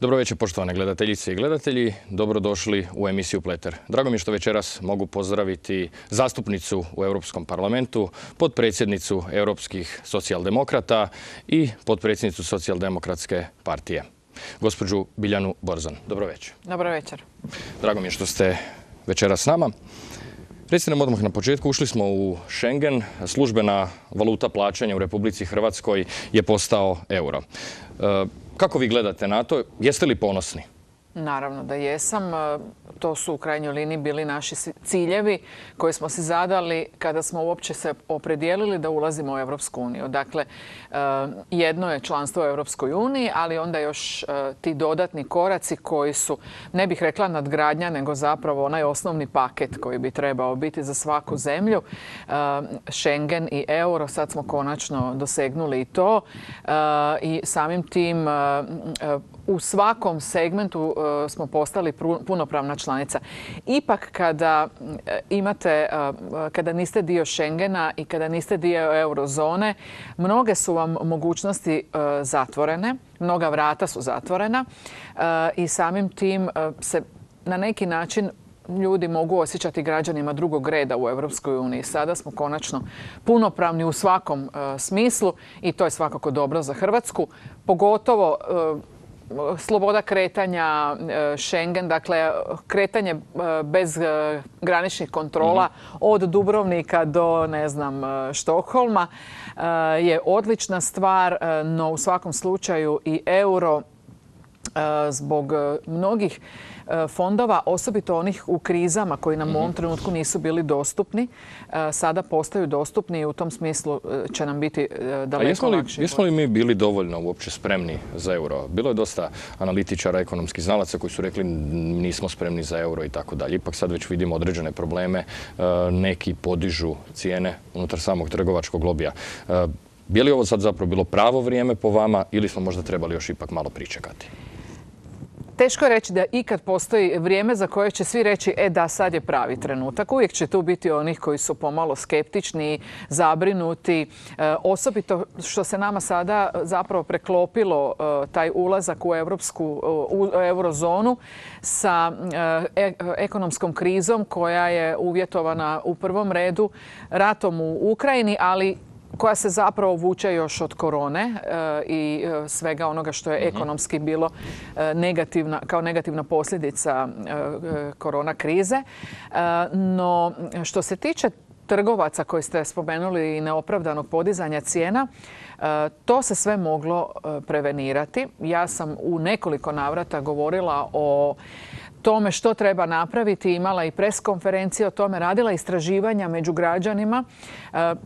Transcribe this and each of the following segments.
Dobro večer, poštovane gledateljice i gledatelji. Dobrodošli u emisiju Pleter. Drago mi je što večeras mogu pozdraviti zastupnicu u Europskom parlamentu, potpredsjednicu Europskih socijaldemokrata i potpredsjednicu Socijaldemokratske partije, gospođu Biljanu Borzan. Dobro večer. Dobro večer. Drago mi je što ste večeras s nama. Recite nam odmah na početku, ušli smo u Schengen, službena valuta plaćanja u Republici Hrvatskoj je postao euro. Kako vi gledate na to? Jeste li ponosni? Naravno da jesam. To su u krajnjoj liniji bili naši ciljevi koje smo si zadali kada smo uopće se opredijelili da ulazimo u Europsku uniju. Dakle, jedno je članstvo u Europskoj uniji, ali onda još ti dodatni koraci koji su, ne bih rekla nadgradnja, nego zapravo onaj osnovni paket koji bi trebao biti za svaku zemlju. Schengen i euro, sad smo konačno dosegnuli i to. I samim tim u svakom segmentu smo postali punopravna članica. Ipak kada niste dio Schengena i kada niste dio eurozone, mnoge su vam mogućnosti zatvorene, mnoga vrata su zatvorena i samim tim se na neki način ljudi mogu osjećati građanima drugog reda u Europskoj uniji. Sada smo konačno punopravni u svakom smislu i to je svakako dobro za Hrvatsku, pogotovo sloboda kretanja, Schengen, dakle kretanje bez graničnih kontrola od Dubrovnika do, ne znam, Štokholma je odlična stvar, no u svakom slučaju i euro zbog mnogih fondova, osobito onih u krizama koji nam u ovom trenutku nisu bili dostupni, sada postaju dostupni i u tom smislu će nam biti daleko lakše. Jesmo li mi bili dovoljno uopće spremni za euro? Bilo je dosta analitičara, ekonomskih znalaca koji su rekli nismo spremni za euro i tako dalje. Ipak sad već vidimo određene probleme, neki podižu cijene unutar samog trgovačkog lobija. Je li ovo sad zapravo bilo pravo vrijeme po vama ili smo možda trebali još ipak malo pričekati? Teško je reći da ikad postoji vrijeme za koje će svi reći da, sad je pravi trenutak. Uvijek će tu biti onih koji su pomalo skeptični, zabrinuti. Osobito što se nama sada zapravo preklopilo taj ulazak u eurozonu sa ekonomskom krizom koja je uvjetovana u prvom redu ratom u Ukrajini, ali koja se zapravo vuče još od korone i svega onoga što je ekonomski bilo kao negativna posljedica korona krize. No, što se tiče trgovaca koji ste spomenuli i neopravdanog podizanja cijena, to se sve moglo prevenirati. Ja sam u nekoliko navrata govorila o tome što treba napraviti, imala i pres konferencije o tome, radila istraživanja među građanima,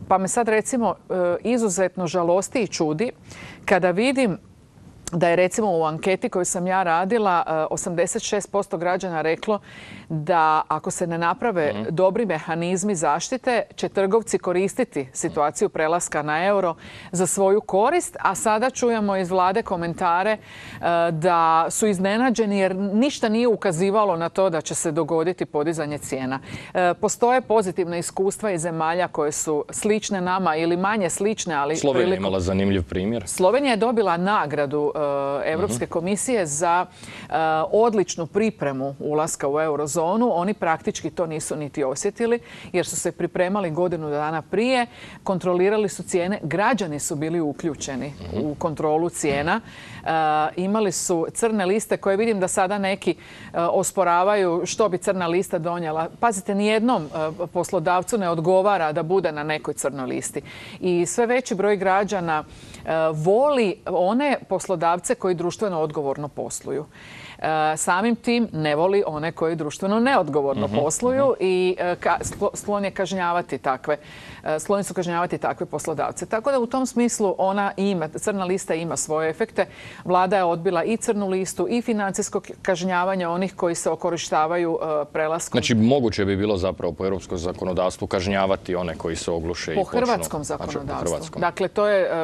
pa me sad recimo izuzetno žalosti i čudi kada vidim da je recimo u anketi koju sam ja radila 86% građana reklo da ako se ne naprave dobri mehanizmi zaštite će trgovci koristiti situaciju prelaska na euro za svoju korist, a sada čujemo iz vlade komentare da su iznenađeni jer ništa nije ukazivalo na to da će se dogoditi podizanje cijena. Postoje pozitivna iskustva iz zemalja koje su slične nama ili manje slične, ali Slovenija je imala zanimljiv primjer. Slovenija je dobila nagradu Europske komisije za odličnu pripremu ulaska u eurozonu. Oni praktički to nisu niti osjetili jer su se pripremali godinu dana prije, kontrolirali su cijene, građani su bili uključeni u kontrolu cijena. Imali su crne liste koje vidim da sada neki osporavaju što bi crna lista donijela. Pazite, nijednom poslodavcu ne odgovara da bude na nekoj crnoj listi. I sve veći broj građana voli one poslodavce koji društveno odgovorno posluju. Samim tim ne voli one koji društveno neodgovorno posluju i skloni su kažnjavati takve poslodavce. Tako da u tom smislu crna lista ima svoje efekte. Vlada je odbila i crnu listu i financijsko kažnjavanje onih koji se okorištavaju prelaskom. Znači moguće bi bilo zapravo po europskom zakonodavstvu kažnjavati one koji se ogluše i počnu. Po hrvatskom zakonodavstvu. Dakle,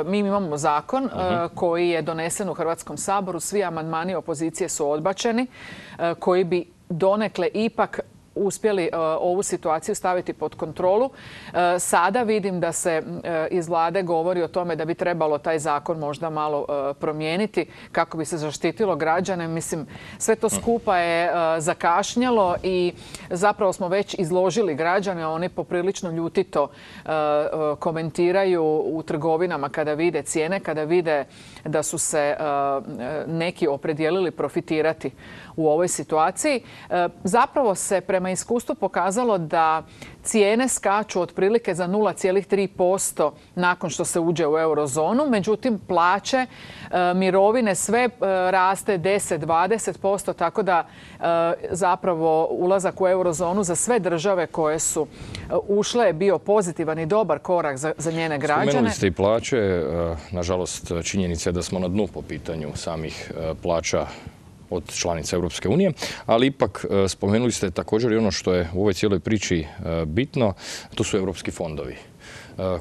mi imamo zakon koji je donesen u Hrvatskom saboru. Svi amandmani opozicije su odbačeni, koji bi donekle ipak uspjeli ovu situaciju staviti pod kontrolu. Sada vidim da se iz vlade govori o tome da bi trebalo taj zakon možda malo promijeniti kako bi se zaštitilo građane. Mislim, sve to skupa je zakašnjelo i zapravo smo već izložili građane. Oni poprilično ljutito komentiraju u trgovinama kada vide cijene, kada vide da su se neki opredijelili profitirati u ovoj situaciji. Zapravo se prema iskustvu pokazalo da cijene skaču otprilike za 0,3% nakon što se uđe u eurozonu. Međutim, plaće, mirovine, sve raste 10-20%, tako da zapravo ulazak u eurozonu za sve države koje su ušle je bio pozitivan i dobar korak za njene građane. Spomenuli ste i plaće. Nažalost, činjenica je da smo na dnu po pitanju samih plaća od članica Europske unije, ali ipak spomenuli ste također i ono što je u ovoj cijeloj priči bitno, to su europski fondovi.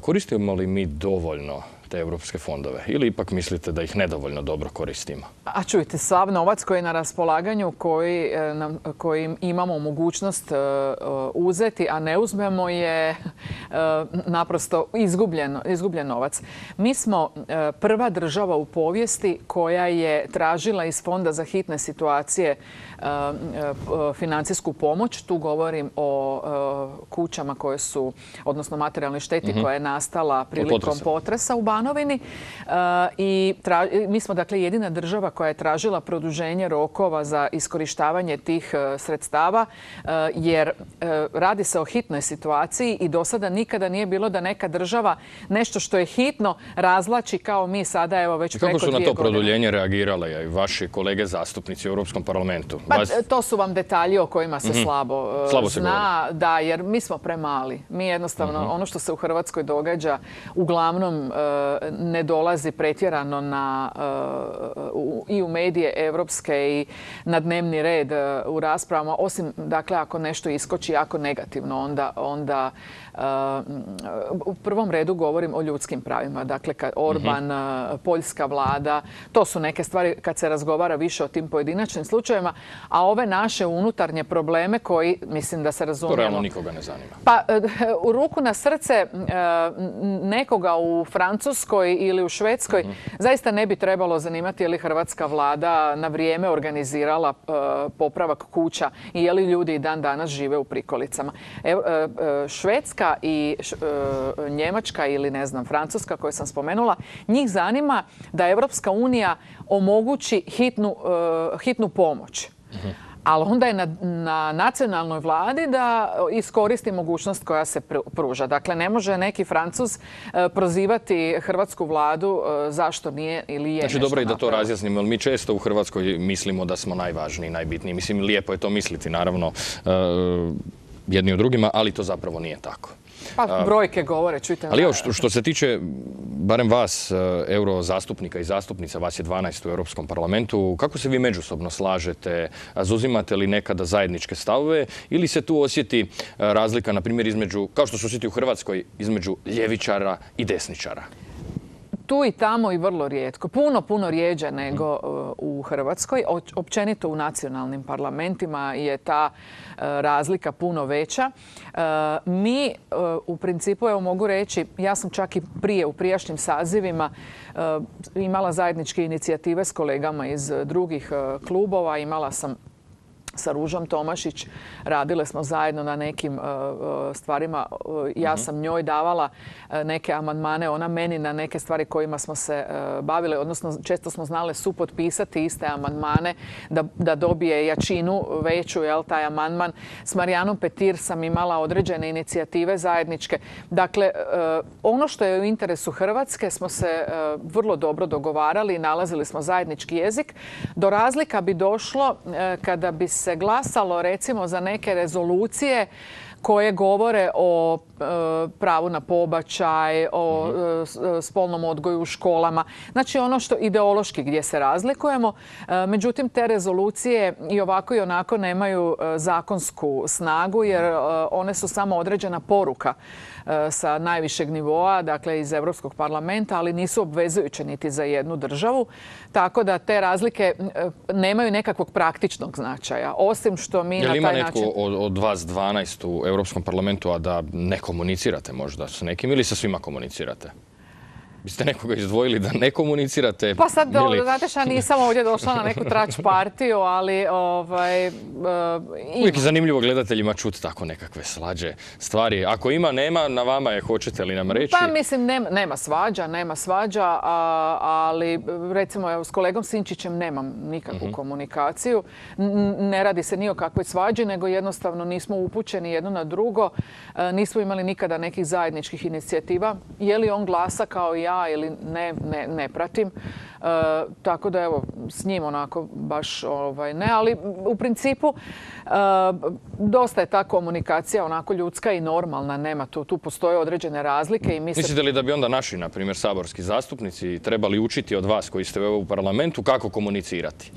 Koristimo li mi dovoljno te europske fondove ili ipak mislite da ih nedovoljno dobro koristimo? A čujte, sav novac koji je na raspolaganju, koji imamo mogućnost uzeti, a ne uzmemo, je naprosto izgubljen novac. Mi smo prva država u povijesti koja je tražila iz Fonda za hitne situacije financijsku pomoć. Tu govorim o kućama koje su, odnosno materijalnoj šteti koja je nastala prilikom potresa u Banovini. I mi smo dakle jedina država koja je tražila produženje rokova za iskorištavanje tih sredstava, jer radi se o hitnoj situaciji i do sada nikada nije bilo da neka država nešto što je hitno razvlači kao mi sada, evo već preko 2 godine. Kako su na to produljenje reagirale i vaši kolege zastupnici u Europskom parlamentu? Pa, to su vam detalji o kojima se slabo zna, da, jer mi smo premali. Mi jednostavno, ono što se u Hrvatskoj događa, uglavnom ne dolazi pretjerano i u medije evropske i na dnevni red u raspravama, osim, dakle, ako nešto iskoči jako negativno, onda u prvom redu govorim o ljudskim pravima. Dakle, Orban, poljska vlada, to su neke stvari kad se razgovara više o tim pojedinačnim slučajevima, a ove naše unutarnje probleme koji, mislim da se razumijemo... To realno nikoga ne zanima. Pa, u ruku na srce nekoga u Francuskoj ili u Švedskoj zaista ne bi trebalo zanimati je li hrvatska vlada na vrijeme organizirala popravak kuća i je li ljudi i dan danas žive u prikolicama. Švedska i Njemačka ili ne znam Francuska koju sam spomenula, njih zanima da Europska unija omogući hitnu pomoć. Ali onda je na nacionalnoj vladi da iskoristi mogućnost koja se pruža. Dakle, ne može neki Francuz prozivati hrvatsku vladu zašto nije ili je. Znači, dobro i da to razjasnimo, jer mi često u Hrvatskoj mislimo da smo najvažniji, najbitniji. Mislim, lijepo je to misliti, naravno, jedni o drugima, ali to zapravo nije tako. Pa brojke govore, čujte. Ali evo, što se tiče, barem vas, eurozastupnika i zastupnica, vas je 12 u Europskom parlamentu, kako se vi međusobno slažete? Zauzimate li nekada zajedničke stavove ili se tu osjeti razlika, na primjer, između, kao što se osjeti u Hrvatskoj, između ljevičara i desničara? Tu i tamo i vrlo rijetko. Puno rijeđe nego u Hrvatskoj. Općenito u nacionalnim parlamentima je ta razlika puno veća. Mi u principu, evo mogu reći, ja sam čak i u prijašnjim sazivima imala zajedničke inicijative s kolegama iz drugih klubova. Imala sam sa Ružom Tomašić, radile smo zajedno na nekim stvarima. Ja sam njoj davala neke amandmane, ona meni na neke stvari kojima smo se bavile, odnosno često smo znale supotpisati iste amandmane da dobije jačinu veću, taj amandman. S Marijanom Petir sam imala određene inicijative zajedničke. Dakle, ono što je u interesu Hrvatske smo se vrlo dobro dogovarali i nalazili smo zajednički jezik. Do razlika bi došlo kada bi se glasalo recimo za neke rezolucije koje govore o pravu na pobačaj, o spolnom odgoju u školama. Znači ono što ideološki gdje se razlikujemo. Međutim, te rezolucije i ovako i onako nemaju zakonsku snagu jer one su samo određena poruka sa najvišeg nivoa, dakle iz Europskog parlamenta, ali nisu obvezujuće niti za jednu državu. Tako da te razlike nemaju nekakvog praktičnog značaja. Osim što mi na taj način... Jel ima netko od vas 12 u Europskom parlamentu, a da ne komunicirate možda s nekim ili sa svima komunicirate? Biste nekoga izdvojili da ne komunicirate? Pa sad, znate šta, nisam ovdje došla na neku trač partiju, ali uvijek je zanimljivo gledateljima čuti tako nekakve svađe stvari. Ako ima, nema, na vama je, hoćete li nam reći? Pa mislim, nema svađa, ali recimo s kolegom Sinčićem nemam nikakvu komunikaciju. Ne radi se ni o kakvoj svađi, nego jednostavno nismo upućeni jedno na drugo. Nismo imali nikada nekih zajedničkih inicijativa. Je li on glasa kao i ja ili ne pratim. Tako da evo, s njim onako baš ne, ali u principu dosta je ta komunikacija onako ljudska i normalna, nema tu postoje određene razlike i Mislite li da bi onda naši, na primjer, saborski zastupnici trebali učiti od vas koji ste u parlamentu kako komunicirati?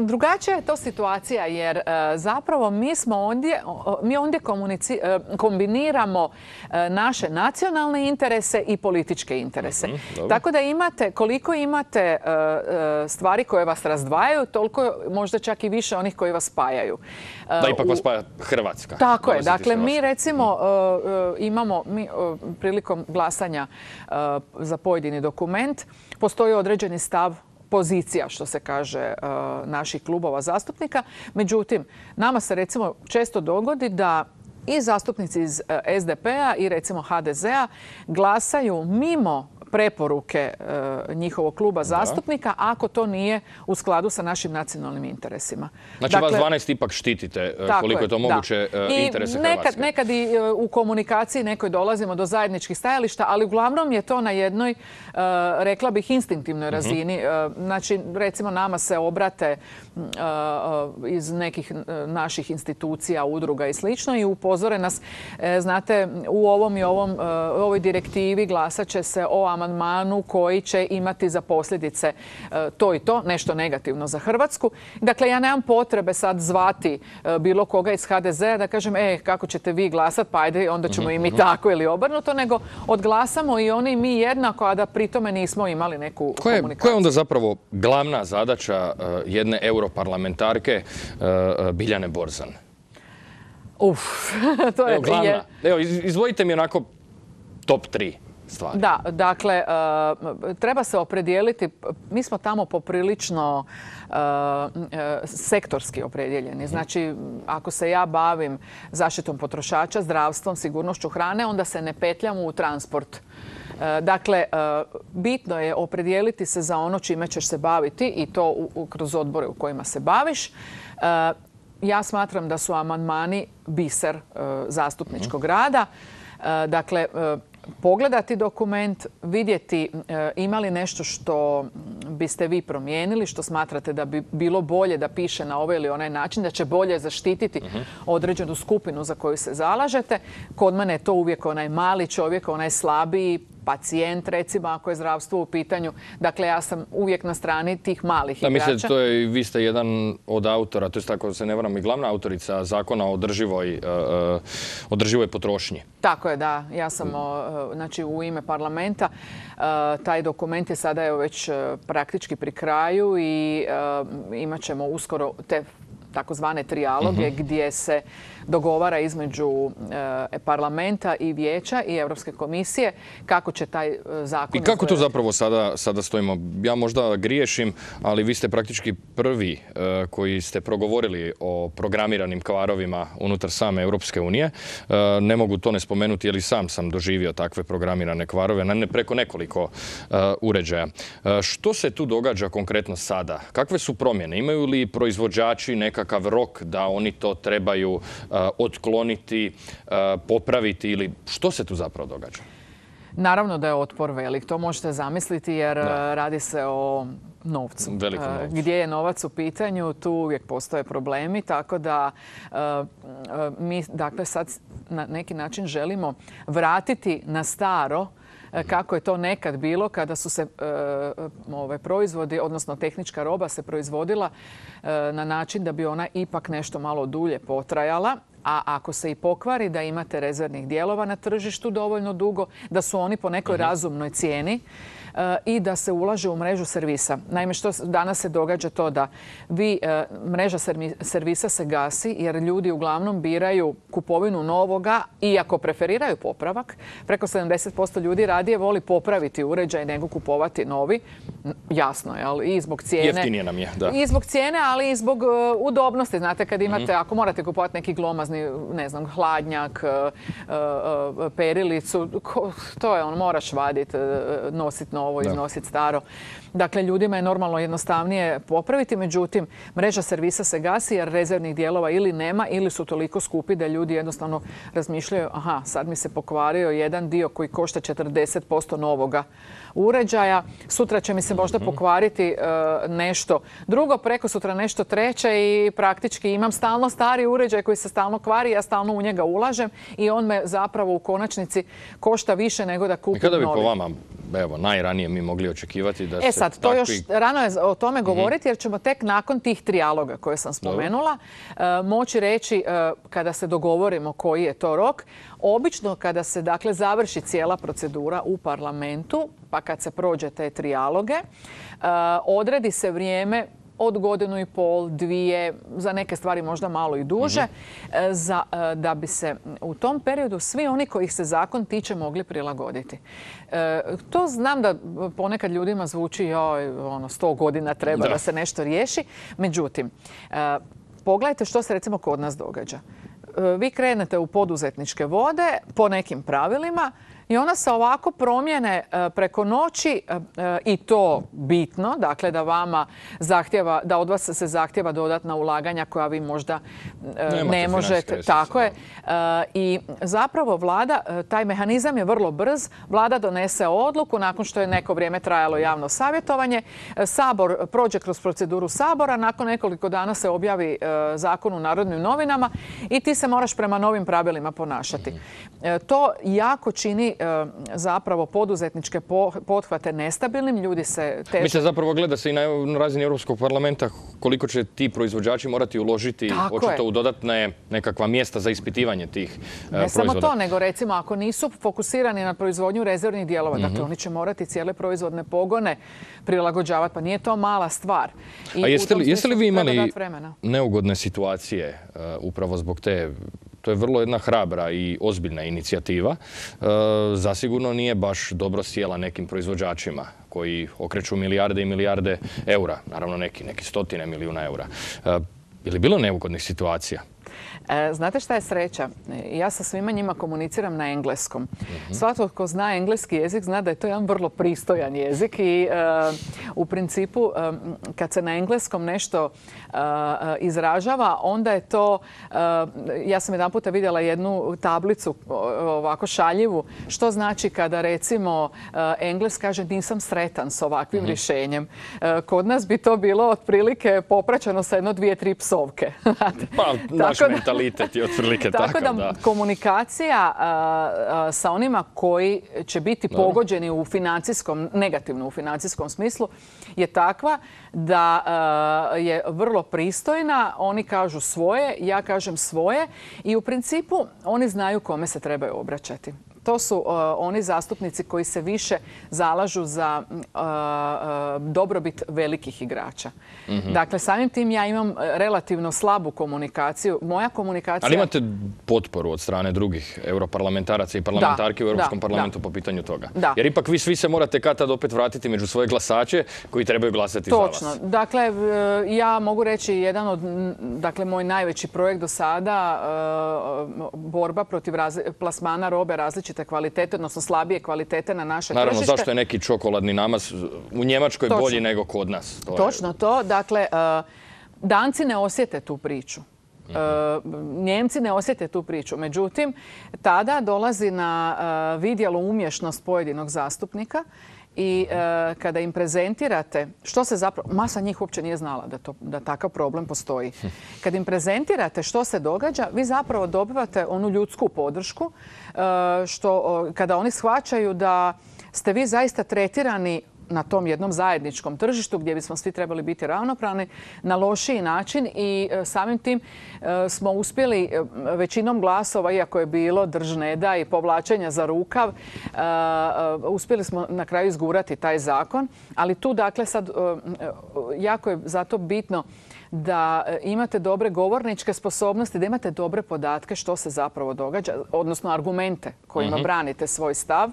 Drugačija je to situacija jer zapravo mi ondje kombiniramo naše nacionalne interese i političke interese. Tako da koliko imate stvari koje vas razdvajaju, toliko možda čak i više onih koji vas spajaju. Da ipak vas spaja Hrvatska. Tako je. Dakle, mi recimo imamo prilikom glasanja za pojedini dokument, postoji određeni stav, pozicija, što se kaže, naših klubova zastupnika. Međutim, nama se recimo često dogodi da i zastupnici iz SDP-a i recimo HDZ-a glasaju mimo preporuke njihovog kluba zastupnika ako to nije u skladu sa našim nacionalnim interesima. Znači vas 12 ipak štitite koliko je to moguće interese Hrvatske. Nekad i u komunikaciji nekoj dolazimo do zajedničkih stajališta, ali uglavnom je to na jednoj, rekla bih, instinktivnoj razini. Znači, recimo nama se obrate iz nekih naših institucija, udruga i slično i upozore nas, znate, u ovoj direktivi glasat će se o amandmanu koji će imati za posljedice to i to, nešto negativno za Hrvatsku. Dakle, ja nemam potrebe sad zvati bilo koga iz HDZ-a da kažem, kako ćete vi glasat, pa ajde, onda ćemo i mi tako ili obrnuto, nego odglasamo i oni i mi jednako, a da pri tome nismo imali neku komunikaciju. Koja je onda zapravo glavna zadaća jedne europarlamentarke Biljane Borzan? To je glavna. Evo, izvojite mi onako top 3. stvari. Da, dakle, treba se opredijeliti. Mi smo tamo poprilično sektorski opredjeljeni. Znači, ako se ja bavim zaštitom potrošača, zdravstvom, sigurnošću hrane, onda se ne petljam u transport. Dakle, bitno je opredijeliti se za ono čime ćeš se baviti i to kroz odbore u kojima se baviš. Ja smatram da su amandmani biser zastupničkog rada. Dakle, pogledati dokument, vidjeti ima li nešto što biste vi promijenili, što smatrate da bi bilo bolje da piše na ovaj ili onaj način, da će bolje zaštititi određenu skupinu za koju se zalažete. Kod mene je to uvijek onaj mali čovjek, onaj slabiji, pacijent, recimo, ako je zdravstvo u pitanju. Dakle, ja sam uvijek na strani tih malih igrača. Mislim, vi ste jedan od autora, to je tako se ne varam, i glavna autorica zakona o održivoj potrošnji. Tako je, da. Ja sam znači, u ime parlamenta. Taj dokument je sada već praktički pri kraju i imat ćemo uskoro te takozvane trijaloge gdje se dogovara između parlamenta i vijeća i Europske komisije kako će taj zakon... I kako to zapravo sada stojimo? Ja možda griješim, ali vi ste praktički prvi koji ste progovorili o programiranim kvarovima unutar same Europske unije. Ne mogu to ne spomenuti, jer i sam doživio takve programirane kvarove preko nekoliko uređaja. Što se tu događa konkretno sada? Kakve su promjene? Imaju li proizvođači nekakav rok da oni to trebaju otkloniti, popraviti ili što se tu zapravo događa? Naravno da je otpor velik. To možete zamisliti jer radi se o novcu. Gdje je novac u pitanju, tu uvijek postoje problemi, tako da mi dakle sad na neki način želimo vratiti na staro kako je to nekad bilo kada su se proizvodi, odnosno tehnička roba se proizvodila na način da bi ona ipak nešto malo dulje potrajala. A ako se i pokvari, da imate rezervnih dijelova na tržištu dovoljno dugo, da su oni po nekoj razumnoj cijeni i da se ulaže u mrežu servisa. Naime, što danas se događa to da mreža servisa se gasi jer ljudi uglavnom biraju kupovinu novoga, iako preferiraju popravak. Preko 70% ljudi radije voli popraviti uređaj nego kupovati novi. Jasno je, ali i zbog cijene. Jeftinije nam je, da. I zbog cijene, ali i zbog udobnosti. Znate, kad imate, ako morate kupovati neki glomazni, ne znam, hladnjak, perilicu, to je moraš vaditi, nositi novo, iznositi staro. Dakle, ljudima je normalno jednostavnije popraviti, međutim, mreža servisa se gasi jer rezervnih dijelova ili nema ili su toliko skupi da ljudi jednostavno razmišljaju, aha, sad mi se pokvario jedan dio koji košta 40% novoga uređaja, sutra će mi se možda pokvariti nešto drugo, preko sutra nešto treće i praktički imam stalno stari uređaj koji se stalno kvari, ja stalno u njega ulažem i on me zapravo u konačnici košta više nego da kupim novi. Kada bi po vama, evo, najranije mi mogli očekivati da se sad, to još rano je o tome govoriti jer ćemo tek nakon tih trijaloga koje sam spomenula moći reći kada se dogovorimo koji je to rok. Obično kada se dakle završi cijela procedura u parlamentu, pa kad se prođe te trijaloge, odredi se vrijeme od godinu i pol, dvije, za neke stvari možda malo i duže, da bi se u tom periodu svi oni kojih se zakon tiče mogli prilagoditi. To znam da ponekad ljudima zvuči 100 godina treba da se nešto riješi. Međutim, pogledajte što se recimo kod nas događa. Vi krenete u poduzetničke vode po nekim pravilima i ona se ovako promijene preko noći i to bitno, dakle da od vas se zahtjeva dodatna ulaganja koja vi možda ne možete. Tako je. I zapravo vlada, taj mehanizam je vrlo brz. Vlada donese odluku nakon što je neko vrijeme trajalo javno savjetovanje. Sabor prođe kroz proceduru Sabora, nakon nekoliko dana se objavi zakon u Narodnim novinama i ti se moraš prema novim pravilima ponašati. To jako čini zapravo poduzetničke pothvate nestabilnim. Ljudi se teže... Mislim, zapravo gleda se i na razini Europskog parlamenta koliko će ti proizvođači morati uložiti očito u dodatne nekakva mjesta za ispitivanje tih proizvoda. Ne samo to, nego recimo ako nisu fokusirani na proizvodnju rezervnih dijelova, dakle oni će morati cijele proizvodne pogone prilagođavati, pa nije to mala stvar. A jeste li vi imali neugodne situacije upravo zbog te... To je vrlo jedna hrabra i ozbiljna inicijativa. Zasigurno nije baš dobro sjela nekim proizvođačima koji okreću milijarde i milijarde eura. Naravno neki stotine milijuna eura. Je li bilo neugodnih situacija? Znate šta je sreća? Ja sa svima njima komuniciram na engleskom. Svatko tko zna engleski jezik zna da je to jedan vrlo pristojan jezik i u principu kad se na engleskom nešto izražava, onda je to, ja sam jedan puta vidjela jednu tablicu ovako šaljivu, što znači kada recimo Engles kaže nisam sretan s ovakvim rješenjem. Kod nas bi to bilo otprilike popraćeno sa 1-2-3 psovke. Pa, naš mentalitet je otprilike takav, da. Tako da komunikacija sa onima koji će biti pogođeni u negativno u financijskom smislu je takva da je vrlo pristojna. Oni kažu svoje, ja kažem svoje i u principu oni znaju kome se trebaju obraćati. To su oni zastupnici koji se više zalažu za dobrobit velikih igrača. Dakle, samim tim ja imam relativno slabu komunikaciju. Moja komunikacija... Ali imate potporu od strane drugih europarlamentaraca i parlamentarki u Europskom parlamentu po pitanju toga? Da. Jer ipak vi svi se morate kad tad opet vratiti među svoje glasače koji trebaju glasati za vas. Točno. Dakle, ja mogu reći jedan od, moj najveći projekt do sada, borba protiv plasmana robe različite kvalitete, odnosno slabije kvalitete na naše tržište. Naravno, zašto je neki čokoladni namaz u Njemačkoj bolji nego kod nas? Točno to. Dakle, Danci ne osjete tu priču. Njemci ne osjete tu priču. Međutim, tada dolazi na vidjelo umješnost pojedinog zastupnika i kada im prezentirate što se zapravo, masa njih uopće nije znala da takav problem postoji. Kad im prezentirate što se događa, vi zapravo dobivate onu ljudsku podršku kada oni shvaćaju da ste vi zaista tretirani na tom jednom zajedničkom tržištu gdje bismo svi trebali biti ravnopravni na lošiji način i samim tim smo uspjeli većinom glasova, iako je bilo drž ne daj i povlačenja za rukav, uspjeli smo na kraju izgurati taj zakon. Ali tu dakle sad jako je zato bitno da imate dobre govorničke sposobnosti, da imate dobre podatke što se zapravo događa, odnosno argumente kojima branite svoj stav.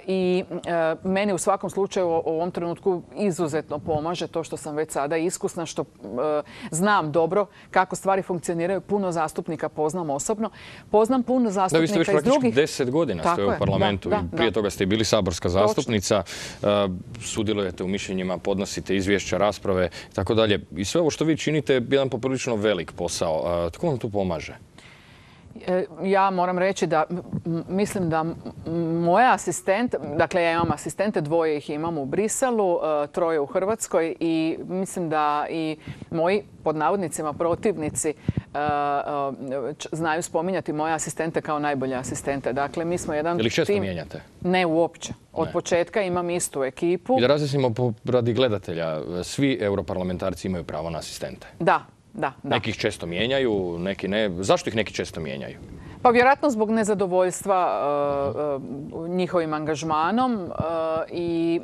I meni u svakom slučaju u ovom trenutku izuzetno pomaže to što sam već sada iskusna, što znam dobro kako stvari funkcioniraju. Puno zastupnika poznam osobno. Poznam puno zastupnika iz drugih... Da, vi ste već praktički 10 godina ste u parlamentu. Prije toga ste i bili saborska zastupnica. Sudjelujete u mišljenjima, podnosite izvješća, rasprave i tako dalje. I sve ovo što vi činite je jedan poprilično velik posao. Tko vam tu pomaže? Ja moram reći da mislim da moja asistent, dakle ja imam asistente, 2 ih imam u Briselu, 3 u Hrvatskoj i mislim da i moji pod navodnicima protivnici znaju spominjati moje asistente kao najbolje asistente. Dakle, mi smo jedan tim... Je li često mijenjate? Ne, uopće. Od početka imam istu ekipu. I da razjasnimo radi gledatelja, svi europarlamentarci imaju pravo na asistente? Da. Neki ih često mijenjaju, neki ne. Zašto ih neki često mijenjaju? Pa vjerojatno zbog nezadovoljstva njihovim angažmanom i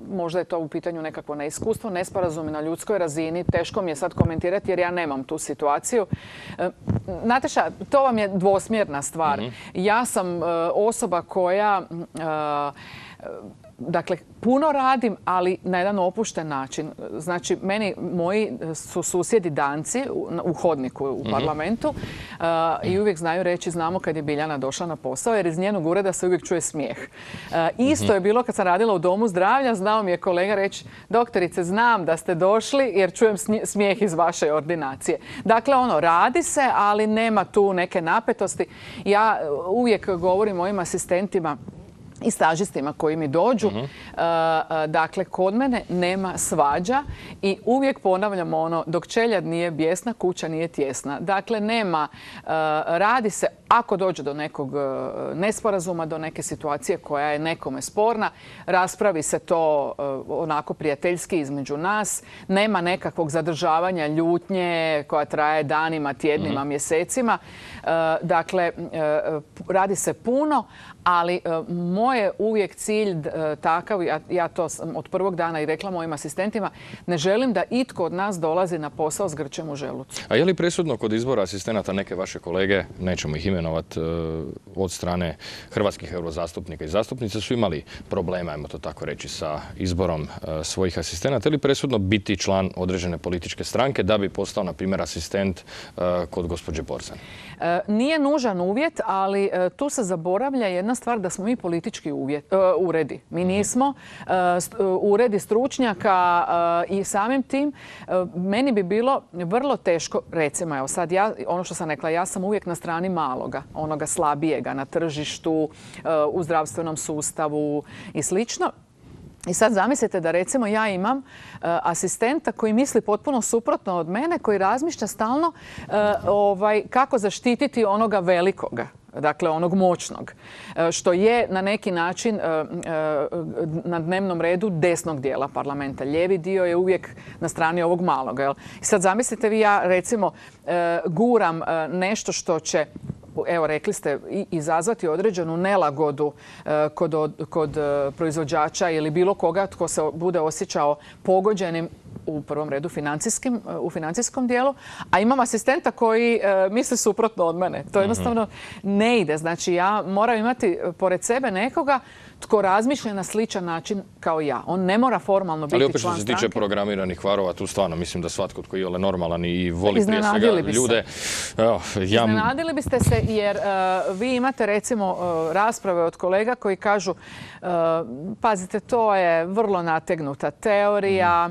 možda je to u pitanju nekakvo neiskustvo, nesporazumi na ljudskoj razini. Teško mi je sad komentirati jer ja nemam tu situaciju. Nataša, to vam je dvosmjerna stvar. Ja sam osoba koja... Dakle, puno radim, ali na jedan opušten način. Znači, moji su susjedi Danci u hodniku u parlamentu i uvijek znaju reći znamo kad je Biljana došla na posao, jer iz njenog ureda se uvijek čuje smijeh. Isto je bilo kad sam radila u Domu zdravlja, znao mi je kolega reći doktorice, znam da ste došli jer čujem smijeh iz vaše ordinacije. Dakle, radi se, ali nema tu neke napetosti. Ja uvijek govorim mojim asistentima i stažistima koji mi dođu. Dakle, kod mene nema svađa i uvijek ponavljam dok čeljad nije bijesna, kuća nije tjesna. Dakle, radi se, ako dođe do nekog nesporazuma, do neke situacije koja je nekome sporna, raspravi se to onako prijateljski između nas. Nema nekakvog zadržavanja ljutnje koja traje danima, tjednima, mjesecima. Dakle, radi se puno, ali moj je uvijek cilj takav, ja to sam od prvog dana i rekla mojim asistentima, ne želim da itko od nas dolazi na posao s grčem u želucu. A je li presudno kod izbora asistenata neke vaše kolege, nećemo ih imenovati, od strane hrvatskih eurozastupnika i zastupnica su imali problema, ajmo to tako reći, sa izborom svojih asistenata? Je li presudno biti član određene političke stranke da bi postao, na primjer, asistent kod gospođe Borzan? Nije nužan uvjet, ali tu se zaboravlja jedna stvar da smo mi politički uredi. Mi nismo uredi stručnjaka i samim tim meni bi bilo vrlo teško, recimo, evo sad ono što sam rekla, ja sam uvijek na strani maloga, onoga slabijega na tržištu, u zdravstvenom sustavu i slično. I sad zamislite da recimo ja imam asistenta koji misli potpuno suprotno od mene, koji razmišlja stalno kako zaštititi onoga velikoga. Dakle, onog moćnog, što je na neki način na dnevnom redu desnog dijela parlamenta. Lijevi dio je uvijek na strani ovog malog. I sad zamislite vi, ja recimo guram nešto što će, evo rekli ste, izazvati određenu nelagodu kod proizvođača ili bilo koga tko se bude osjećao pogođenim u prvom redu u financijskom dijelu, a imam asistenta koji misli suprotno od mene. To jednostavno ne ide. Znači, ja moram imati pored sebe nekoga tko razmišlja na sličan način kao ja. On ne mora formalno biti član stranke. Ali opet što se tiče programiranih varova, tu stvarno mislim da svatko tko je normalan i voli prije svega ljude. Iznenadili biste se jer vi imate recimo rasprave od kolega koji kažu pazite, to je vrlo nategnuta teorija,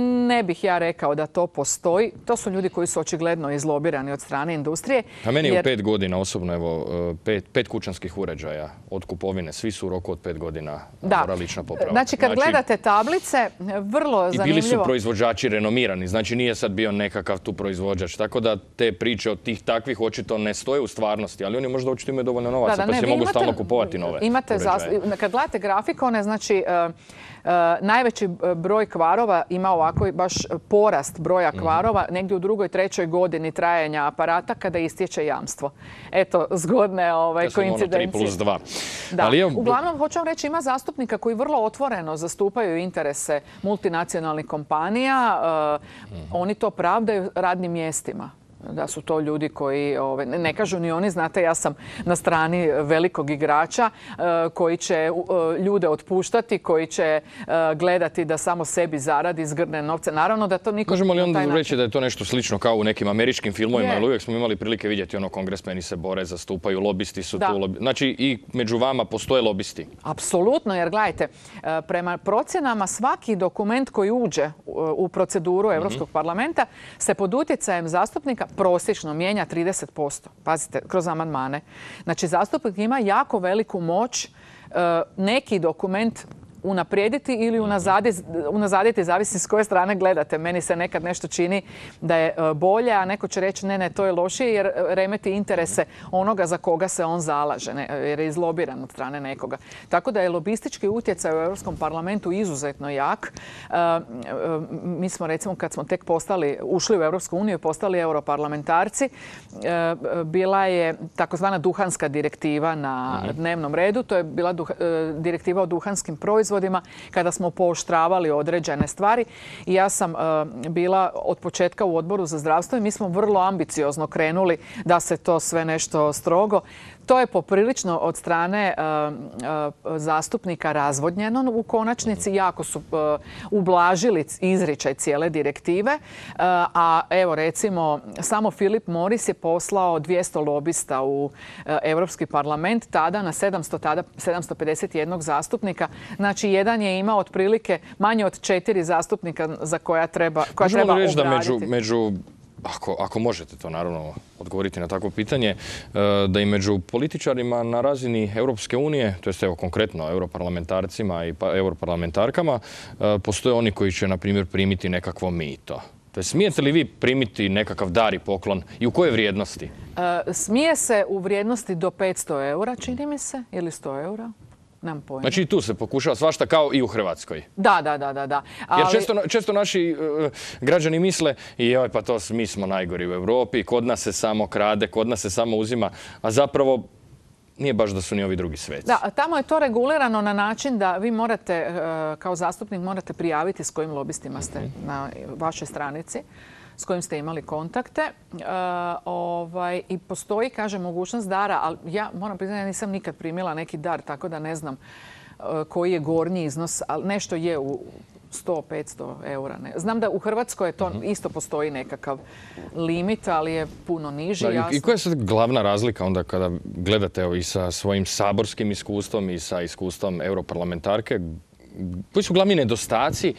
ne bih ja rekao da to postoji. To su ljudi koji su očigledno izlobirani od strane industrije. A meni je u 5 godina osobno, evo, 5 kućanskih uređaja od kupovine. Svi su u roku od 5 godina moralična popravka. Znači, kad gledate tablice, vrlo zanimljivo. I bili su proizvođači renomirani. Znači, nije sad bio nekakav tu proizvođač. Tako da te priče od tih takvih očito ne stoje u stvarnosti. Ali oni možda očito imaju dovoljno novaca, pa se mogu stalno kupovati nove uređaje. Kad gledate grafikone, znači, najveći broj kvarova ima ovako baš porast broja kvarova negdje u 2., 3. godini trajanja aparata kada istječe jamstvo. Eto, zgodne koincidencije. 3+2. Da. Uglavnom, hoću vam reći, ima zastupnika koji vrlo otvoreno zastupaju interese multinacionalnih kompanija. Oni to pravdaju radnim mjestima. Da su to ljudi koji, ne kažu ni oni, znate, ja sam na strani velikog igrača koji će ljude otpuštati, koji će gledati da samo sebi zaradi, zgrne novce. Naravno da to niko... Možemo li onda reći da je to nešto slično kao u nekim američkim filmovima, ali uvijek smo imali prilike vidjeti kongresmeni se bore, zastupaju, lobisti su tu. Znači i među vama postoje lobisti. Apsolutno, jer gledajte, prema procjenama svaki dokument koji uđe u proceduru Europskog parlamenta se pod utjecajem zastupnika prosječno mijenja 30%. Pazite, kroz amandmane. Znači, zastupnik ima jako veliku moć neki dokument unaprijediti ili unazaditi, zavisi s koje strane gledate. Meni se nekad nešto čini da je bolje, a neko će reći ne, to je lošije jer remeti interese onoga za koga se on zalaže, jer je izlobiran od strane nekoga. Tako da je lobistički utjecaj u Europskom parlamentu izuzetno jak. Mi smo, recimo, kad smo tek ušli u Europsku uniju i postali europarlamentarci, bila je takozvana duhanska direktiva na dnevnom redu. To je bila direktiva o duhanskim proizvodima kada smo pooštravali određene stvari. I ja sam bila od početka u Odboru za zdravstvo i mi smo vrlo ambiciozno krenuli da se to sve nešto strogo. To je poprilično od strane zastupnika razvodnjeno u konačnici. Jako su ublažili izričaj cijele direktive. A evo, recimo, samo Philip Morris je poslao 200 lobista u Europski parlament, tada na 751 zastupnika. Znači, jedan je imao otprilike manje od 4 zastupnika za koja treba obraditi. Možemo li reći da među ako možete to naravno odgovoriti na takvo pitanje, da i među političarima na razini Europske unije, to jest evo konkretno europarlamentarcima i europarlamentarkama, postoje oni koji će, na primjer, primiti nekakvo mito. To je, smijete li vi primiti nekakav dar i poklon i u koje vrijednosti? Smije se u vrijednosti do 500 eura, čini mi se, ili 100 eura. Znači i tu se pokušava svašta kao i u Hrvatskoj. Da. Jer često naši građani misle pa to mi smo najgori u Europi, kod nas se samo krade, kod nas se samo uzima, a zapravo nije baš da su ni ovi drugi sveci. Da, tamo je to regulirano na način da vi morate, kao zastupnik, morate prijaviti s kojim lobistima ste na vašoj stranici, s kojim ste imali kontakte. I postoji, kaže, mogućnost dara, ali ja moram priznati, ja nisam nikad primila neki dar, tako da ne znam koji je gornji iznos, ali nešto je u 100-500 eura. Znam da u Hrvatskoj to isto postoji nekakav limit, ali je puno niži. I koja je sad glavna razlika onda kada gledate i sa svojim saborskim iskustvom i sa iskustvom europarlamentarke? Koji su glavni nedostaci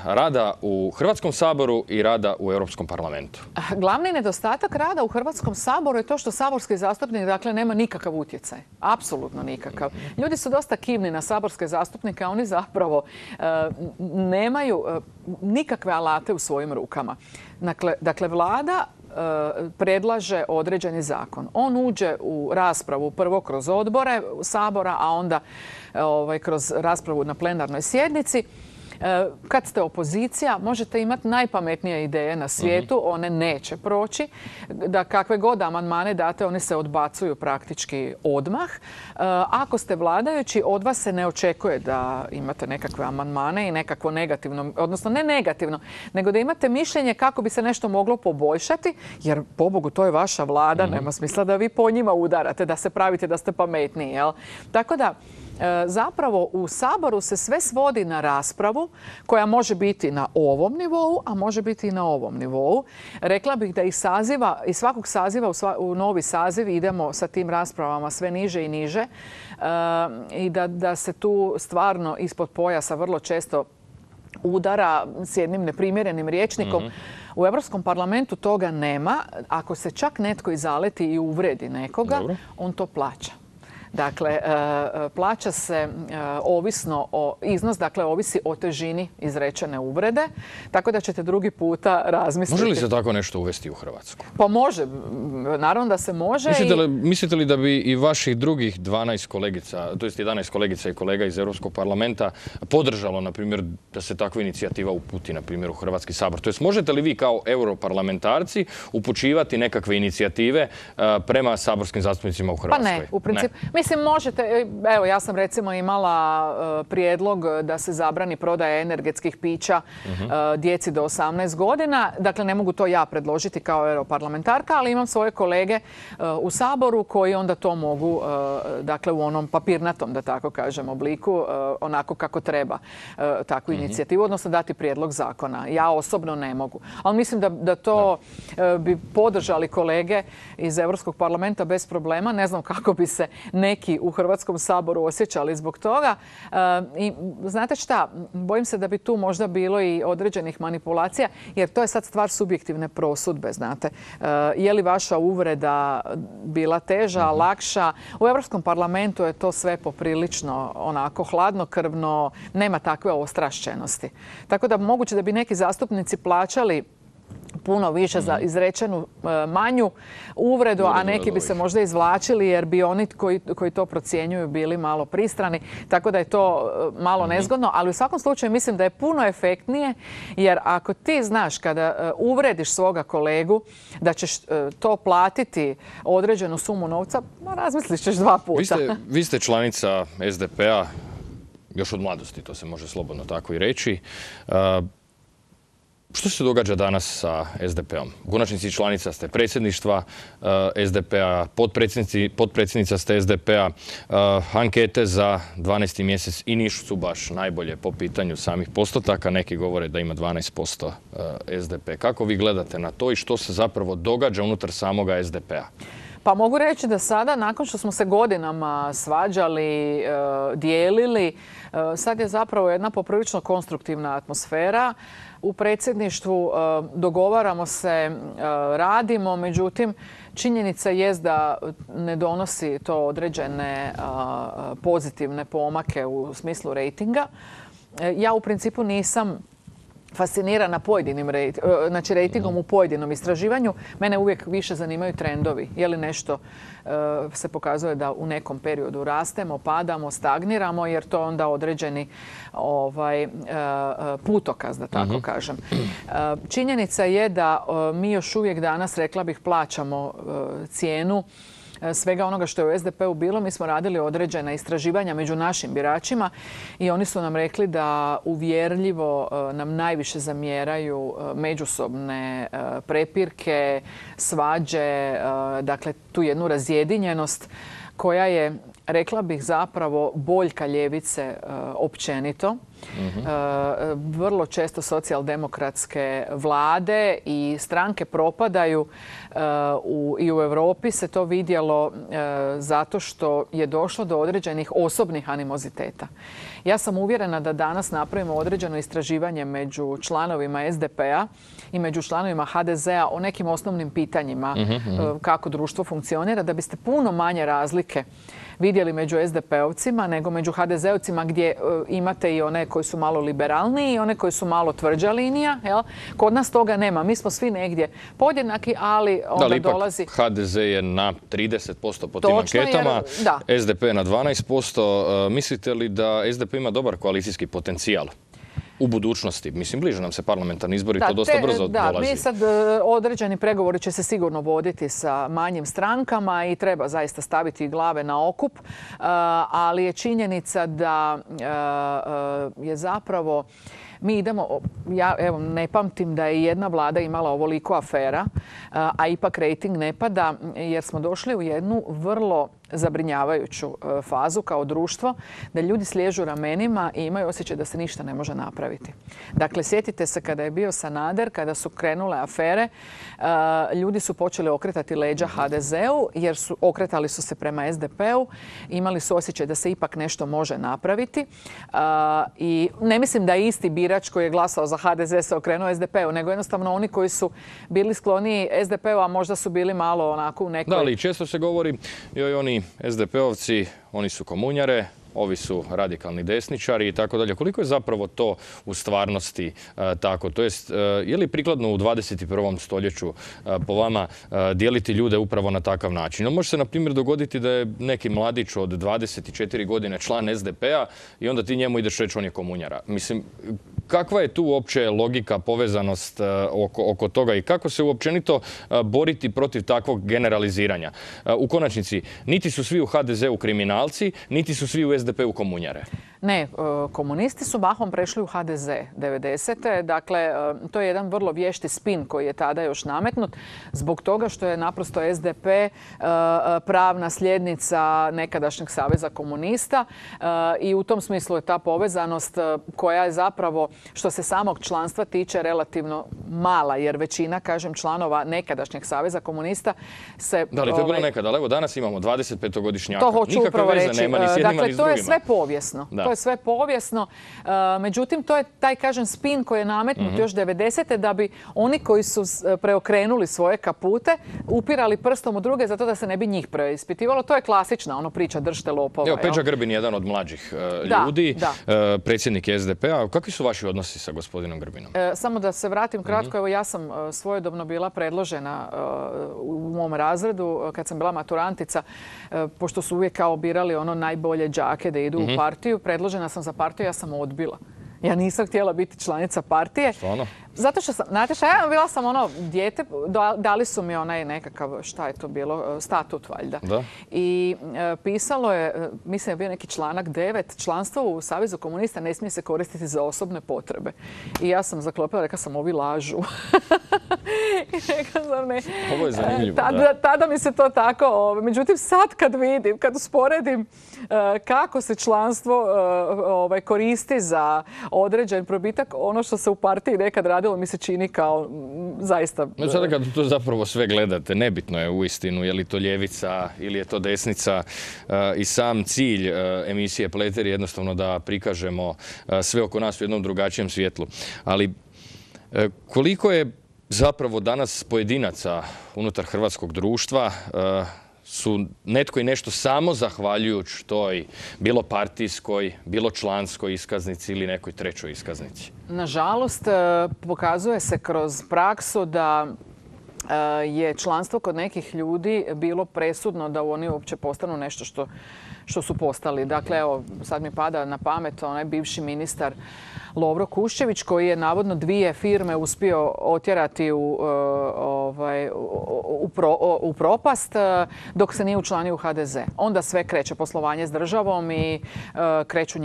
rada u Hrvatskom saboru i rada u Europskom parlamentu? Glavni nedostatak rada u Hrvatskom saboru je to što saborski zastupnik, dakle, nema nikakav utjecaj. Apsolutno nikakav. Ljudi su dosta kivni na saborske zastupnike, a oni zapravo nemaju nikakve alate u svojim rukama. Dakle, vlada predlaže određeni zakon. On uđe u raspravu prvo kroz odbore Sabora, a onda kroz raspravu na plenarnoj sjednici. Kad ste opozicija, možete imati najpametnije ideje na svijetu, one neće proći. Da kakve god amandmane date, oni se odbacuju praktički odmah. Ako ste vladajući, od vas se ne očekuje da imate nekakve amandmane i nekakvo negativno, odnosno ne negativno, nego da imate mišljenje kako bi se nešto moglo poboljšati, jer pobogu to je vaša vlada, nema smisla da vi po njima udarate, da se pravite da ste pametniji. Jel? Tako da, zapravo u Saboru se sve svodi na raspravu koja može biti na ovom nivou, a može biti i na ovom nivou. Rekla bih da iz svakog saziva u novi saziv idemo sa tim raspravama sve niže i niže i da se tu stvarno ispod pojasa vrlo često udara s jednim neprimjerenim rječnikom. U Europskom parlamentu toga nema. Ako se čak netko i zaleti i uvredi nekoga, on to plaća. Dakle, plaća se ovisno o iznos, dakle, ovisi o težini izrečene uvrede, tako da ćete drugi puta razmisliti. Može li se tako nešto uvesti u Hrvatsku? Pa može, naravno da se može. Mislite li da bi i vaših drugih 12 kolegica, to jest 11 kolegica i kolega iz Europskog parlamenta podržalo, na primjer, da se takva inicijativa uputi, na primjer, u Hrvatski sabor? To jest, možete li vi kao europarlamentarci upućivati nekakve inicijative prema saborskim zastupnicima u Hrvatskoj? Pa ne, u principu. Mislim, možete, evo, ja sam recimo imala prijedlog da se zabrani prodaja energetskih pića djeci do 18 godina. Dakle, ne mogu to ja predložiti kao europarlamentarka, ali imam svoje kolege u Saboru koji onda to mogu, dakle, u onom papirnatom, da tako kažem, obliku, onako kako treba takvu inicijativu, odnosno dati prijedlog zakona. Ja osobno ne mogu. Ali mislim da to bi podržali kolege iz Europskog parlamenta bez problema. Ne znam kako bi se neki u Hrvatskom saboru osjećali zbog toga. I znate šta, bojim se da bi tu možda bilo i određenih manipulacija, jer to je sad stvar subjektivne prosudbe, znate. Je li vaša uvreda bila teža, lakša? U Europskom parlamentu je to sve poprilično onako hladnokrvno, nema takve ostrašćenosti. Tako da moguće da bi neki zastupnici plaćali puno više za izrečenu manju uvredu, a neki bi se možda izvlačili jer bi oni koji to procjenjuju bili malo pristrani. Tako da je to malo nezgodno, ali u svakom slučaju mislim da je puno efektnije, jer ako ti znaš kada uvrediš svoga kolegu da ćeš to platiti određenu sumu novca, razmislit ćeš 2 puta. Vi ste članica SDP-a još od mladosti, to se može slobodno tako i reći. Što se događa danas sa SDP-om? U konačnici članica ste predsjedništva SDP-a, potpredsjednica ste SDP-a. Ankete za 12. mjesec i nisu baš najbolje po pitanju samih postotaka. Neki govore da ima 12% SDP. Kako vi gledate na to i što se zapravo događa unutar samoga SDP-a? Pa mogu reći da sada, nakon što smo se godinama svađali, dijelili, sad je zapravo jedna poprilično konstruktivna atmosfera. U predsjedništvu dogovaramo se, radimo, međutim, činjenica jest da ne donosi to određene pozitivne pomake u smislu rejtinga. Ja u principu nisam fascinirana pojedinim rejtingom u pojedinom istraživanju. Mene uvijek više zanimaju trendovi. Je li nešto se pokazuje da u nekom periodu rastemo, padamo, stagniramo, jer to onda određeni putokaz, da tako kažem. Činjenica je da mi još uvijek danas, rekla bih, plaćamo cijenu svega onoga što je u SDP-u bilo. Mi smo radili određena istraživanja među našim biračima i oni su nam rekli da uvjerljivo nam najviše zamjeraju međusobne prepirke, svađe, dakle tu jednu razjedinjenost koja je, rekla bih, zapravo boljka ljevice općenito. Vrlo često socijaldemokratske vlade i stranke propadaju i u Europi se to vidjelo zato što je došlo do određenih osobnih animoziteta. Ja sam uvjerena da danas napravimo određeno istraživanje među članovima SDP-a i među članovima HDZ-a o nekim osnovnim pitanjima kako društvo funkcionira, da biste puno manje razlike vidjeli među SDP-ovcima nego među HDZ-ovcima, gdje imate i one koji su malo liberalniji i one koji su malo tvrđa linija. Jel? Kod nas toga nema. Mi smo svi negdje podjednaki, ali onda dolazi... HDZ je na 30% po tim anketama, SDP na 12%. Mislite li da SDP ima dobar koalicijski potencijal u budućnosti? Mislim, bliže nam se parlamentarni izbori, to dosta brzo dolazi. Mi sad određeni pregovori će se sigurno voditi sa manjim strankama i treba zaista staviti glave na okup, ali je činjenica da je zapravo mi idemo, ja evo ne pamtim da je jedna vlada imala ovoliko afera, a ipak rejting ne pada jer smo došli u jednu vrlo zabrinjavajuću fazu kao društvo, da ljudi sliježu ramenima i imaju osjećaj da se ništa ne može napraviti. Dakle, sjetite se kada je bio Sanader, kada su krenule afere, ljudi su počeli okretati leđa HDZ-u jer okretali su se prema SDP-u, imali su osjećaj da se ipak nešto može napraviti i ne mislim da je isti birač birač koji je glasao za HDZ se okrenuo SDP-u, nego jednostavno oni koji su bili skloniji SDP-u, a možda su bili malo onako u nekoj... Da, ali često se govori, joj, oni SDP-ovci, oni su komunjare, ovi su radikalni desničari i tako dalje. Koliko je zapravo to u stvarnosti tako? To jest, je li prikladno u 21. stoljeću po vama dijeliti ljude upravo na takav način? Može se, na primjer, dogoditi da je neki mladić od 24 godine član SDP-a i onda ti njemu ideš reći on je komunjara. Mislim, kakva je tu uopće logika, povezanost oko toga i kako se uopćenito boriti protiv takvog generaliziranja? U konačnici, niti su svi u HDZ-u kriminalci, niti su svi u SDP-u komunjare. Ne, komunisti su mahom prešli u HDZ 90. Dakle, to je jedan vrlo vješti spin koji je tada još nametnut zbog toga što je naprosto SDP pravna sljednica nekadašnjeg Saveza komunista i u tom smislu je ta povezanost koja je zapravo, što se samog članstva tiče, relativno mala, jer većina, kažem, članova nekadašnjeg Saveza komunista se... Da li to je bilo nekada? Ali evo, danas imamo 25-godišnjaka. To hoću upravo reći. Dakle, to je sve povijesno. Da. To je sve povijesno. Međutim, to je taj, kažem, spin koji je nametnut još 90. da bi oni koji su preokrenuli svoje kapute upirali prstom u druge zato da se ne bi njih preispitivalo. To je klasična priča držite lopova. Evo, Peđa Grbin je jedan od mlađih ljudi, predsjednik SDP-a. Kakvi su vaši odnosi sa gospodinom Grbinom? Samo da se vratim kratko. Evo, ja sam svojedobno bila predložena u mom razredu kad sam bila maturantica, pošto su uvijek kao birali ono najbolje đake da idu u partiju. Predložena sam za partiju, ja sam odbila. Ja nisam htjela biti članica partije. Stvarno? Zato što sam, znate šta, ja bila sam ono dijete, dali su mi onaj nekakav, šta je to bilo, statut valjda. Da. I pisalo je, mislim je bio neki članak 9, članstvo u Savezu komunista ne smije se koristiti za osobne potrebe. I ja sam zaklopila, rekla sam, ovi lažu. Ovo je zanimljivo. Tada mi se to tako, međutim sad kad vidim, kad usporedim kako se članstvo koristi za određen probitak, ono što se u partiji nekad radilo mi se čini kao zaista... Sada kad to zapravo sve gledate, nebitno je uistinu je li to ljevica ili je to desnica i sam cilj emisije Pleter je jednostavno da prikažemo sve oko nas u jednom drugačijem svjetlu. Ali koliko je zapravo danas pojedinaca unutar hrvatskog društva su netko i nešto samo zahvaljujući toj bilo partijskoj, bilo članskoj iskaznici ili nekoj trećoj iskaznici? Nažalost, pokazuje se kroz praksu da je članstvo kod nekih ljudi bilo presudno da oni uopće postanu nešto što su postali. Dakle, evo, sad mi pada na pamet onaj bivši ministar Lovro Kuščević koji je navodno 2 firme uspio otjerati u propast dok se nije učlanio u HDZ. Onda sve kreće poslovanje s državom i kreću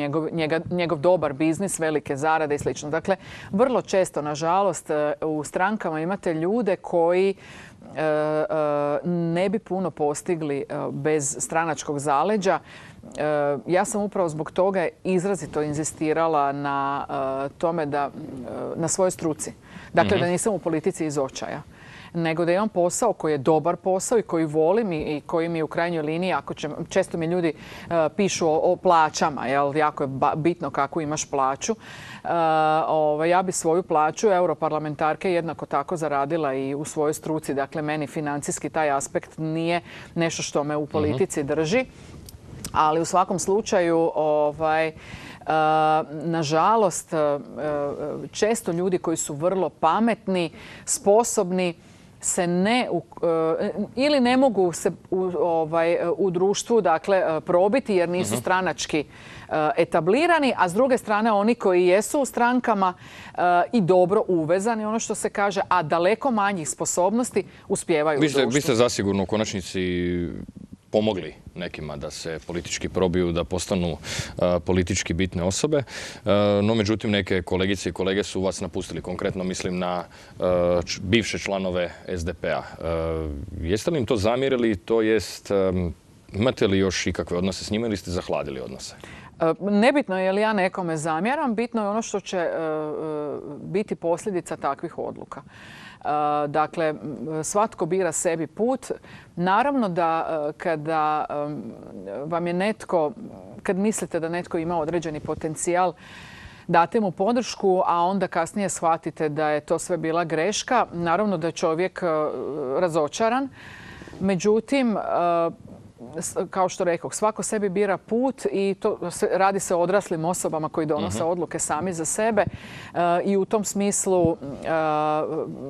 njegov dobar biznis, velike zarade i sl. Dakle, vrlo često, nažalost, u strankama imate ljude koji ne bi puno postigli bez stranačkog zaleđa. Ja sam upravo zbog toga izrazito inzistirala na tome na svojoj struci. Dakle, da nisam u politici iz očaja, nego da imam posao koji je dobar posao i koji volim i koji mi u krajnjoj liniji, često mi ljudi pišu o plaćama, jako je bitno kako imaš plaću. Ja bi svoju plaću europarlamentarke jednako tako zaradila i u svojoj struci. Dakle, meni financijski taj aspekt nije nešto što me u politici drži. Ali u svakom slučaju, nažalost, često ljudi koji su vrlo pametni, sposobni, se ili ne mogu se u društvu probiti jer nisu stranački etablirani, a s druge strane oni koji jesu u strankama i dobro uvezani, ono što se kaže, a daleko manjih sposobnosti uspijevaju u društvu. Vi ste zasigurno u konačnici pomogli nekima da se politički probiju, da postanu politički bitne osobe. No, međutim, neke kolegice i kolege su vas napustili. Konkretno mislim na bivše članove SDP-a. Jeste li im to zamjerili? To jest, imate li još ikakve odnose s njima ili ste zahladili odnose? Nebitno je li ja nekome zamjeram, bitno je ono što će biti posljedica takvih odluka. Dakle, svatko bira sebi put. Naravno da kada vam je netko, kad mislite da netko ima određeni potencijal, date mu podršku, a onda kasnije shvatite da je to sve bila greška. Naravno da je čovjek razočaran. Međutim, kao što rekoh, svako sebi bira put i to radi se o odraslim osobama koji donose odluke sami za sebe i u tom smislu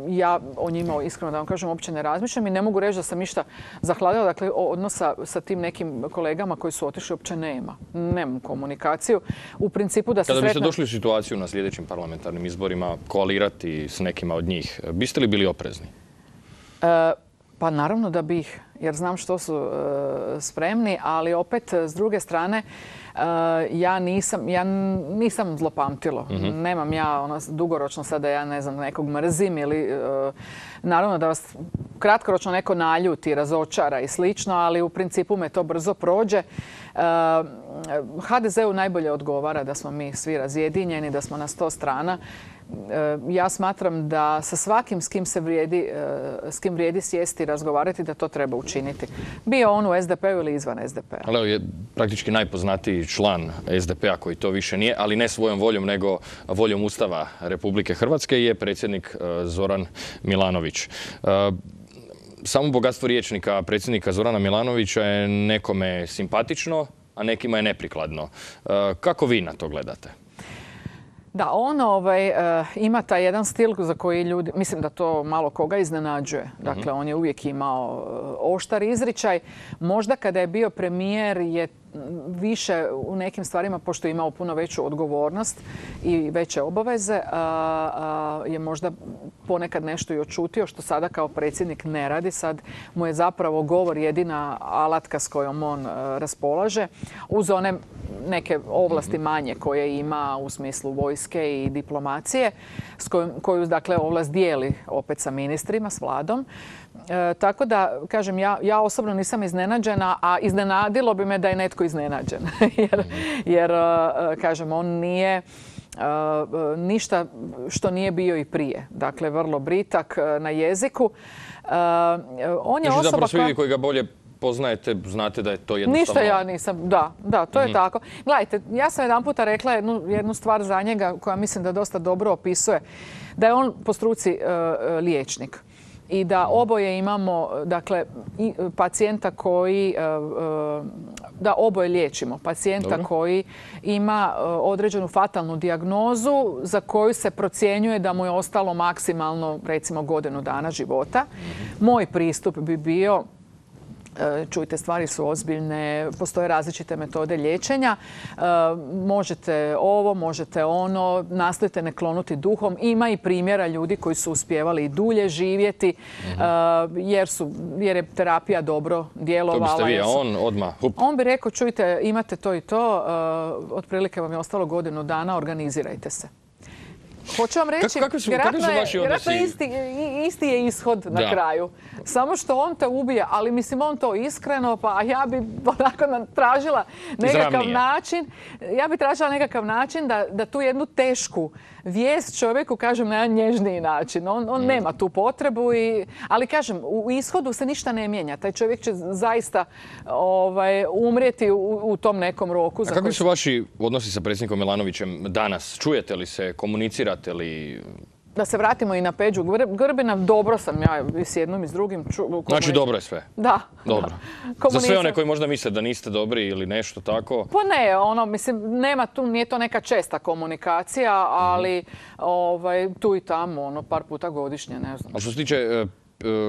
ja o njima, iskreno da vam kažem, uopće ne razmišljam i ne mogu reći da sam išta zahladila. Dakle, odnosa sa tim nekim kolegama koji su otišli uopće nema. Nemam komunikaciju. U principu da se Kada biste došli u situaciju na sljedećim parlamentarnim izborima koalirati s nekima od njih, biste li bili oprezni? Pa naravno da bih, jer znam što su spremni, ali opet s druge strane ja nisam zlopamtilo. Nemam ja dugoročno sada ja ne znam nekog mrzim ili naravno da vas kratkoročno neko naljuti, razočara i slično, ali u principu me to brzo prođe. HDZ-u najbolje odgovara da smo mi svi razjedinjeni, da smo na 100 strana. Ja smatram da sa svakim s kim vrijedi sjesti i razgovarati, da to treba učiniti. Bio on u SDP-u ili izvan SDP-a. Ali je praktički najpoznatiji član SDP-a koji to više nije, ali ne svojom voljom, nego voljom Ustava Republike Hrvatske, je predsjednik Zoran Milanović. Samo bogatstvo rječnika predsjednika Zorana Milanovića je nekome simpatično, a nekima je neprikladno. Kako vi na to gledate? Da, on ima taj jedan stil za koji ljudi, mislim da to malo koga iznenađuje. Dakle, on je uvijek imao oštar izričaj. Možda kada je bio premijer je više u nekim stvarima, pošto je imao puno veću odgovornost i veće obaveze, je možda ponekad nešto i očutio, što sada kao predsjednik ne radi. Sad mu je zapravo govor jedina alatka s kojom on raspolaže, uz one neke ovlasti manje koje ima u smislu vojske i diplomacije, koju dakle ovlast dijeli opet sa ministrima, s vladom. Tako da, kažem, ja osobno nisam iznenađena, a iznenadilo bi me da je netko iznenađen. jer kažem, on nije ništa što nije bio i prije. Dakle, vrlo britak na jeziku. On je osoba zapravo svi koji ga bolje poznajete, znate da je to jednostavno... Ništa ja nisam, da, to je tako. Gledajte, ja sam jedan puta rekla jednu stvar za njega koja mislim da dosta dobro opisuje. Da je on po struci liječnik. I da oboje imamo, dakle, pacijenta koji, da oboje liječimo. Pacijenta koji ima određenu fatalnu dijagnozu za koju se procjenjuje da mu je ostalo maksimalno, recimo, godinu dana života. Moj pristup bi bio, čujte, stvari su ozbiljne, postoje različite metode liječenja. Možete ovo, možete ono, nastojite ne klonuti duhom. Ima i primjera ljudi koji su uspijevali i dulje živjeti jer je terapija dobro djelovala. To biste vi, a on odmah? On bi rekao, čujte, imate to i to, otprilike vam je ostalo godinu dana, organizirajte se. Hoću vam reći, vjerojatno isti je ishod na kraju. Samo što on te ubije, ali mislim on to iskreno, pa ja bi onako tražila nekakav način da tu jednu tešku vijest čovjeku kažem na jedan nježniji način. On nema tu potrebu, ali kažem, u ishodu se ništa ne mijenja. Taj čovjek će zaista umrijeti u tom nekom roku. A kakvi su vaši odnosi sa predsjednikom Milanovićem danas? Čujete li se, komunicirate li? Da se vratimo i na Peđu Grbina, dobro sam ja s jednom i s drugim. Znači dobro je sve? Da. Dobro. Za sve one koji možda misle da niste dobri ili nešto tako? Pa ne, mislim, nema tu, nije to neka česta komunikacija, ali tu i tamo, par puta godišnje, ne znam. A što se tiče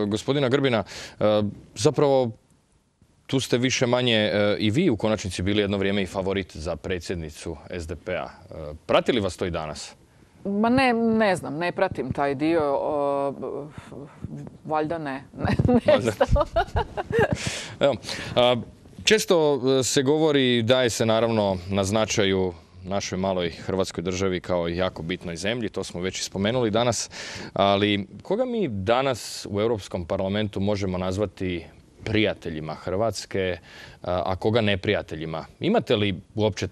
gospodina Grbina, zapravo tu ste više manje i vi u konačnici bili jedno vrijeme i favorit za predsjednicu SDP-a. Prati li vas to i danas? Ma ne znam, ne pratim taj dio. Valjda ne. Često se govori, daje se naravno na značaju našoj maloj Hrvatskoj državi kao jako bitnoj zemlji, to smo već i spomenuli danas, ali koga mi danas u Europskom parlamentu možemo nazvati prijateljima Hrvatske, a koga neprijateljima? Imate li uopće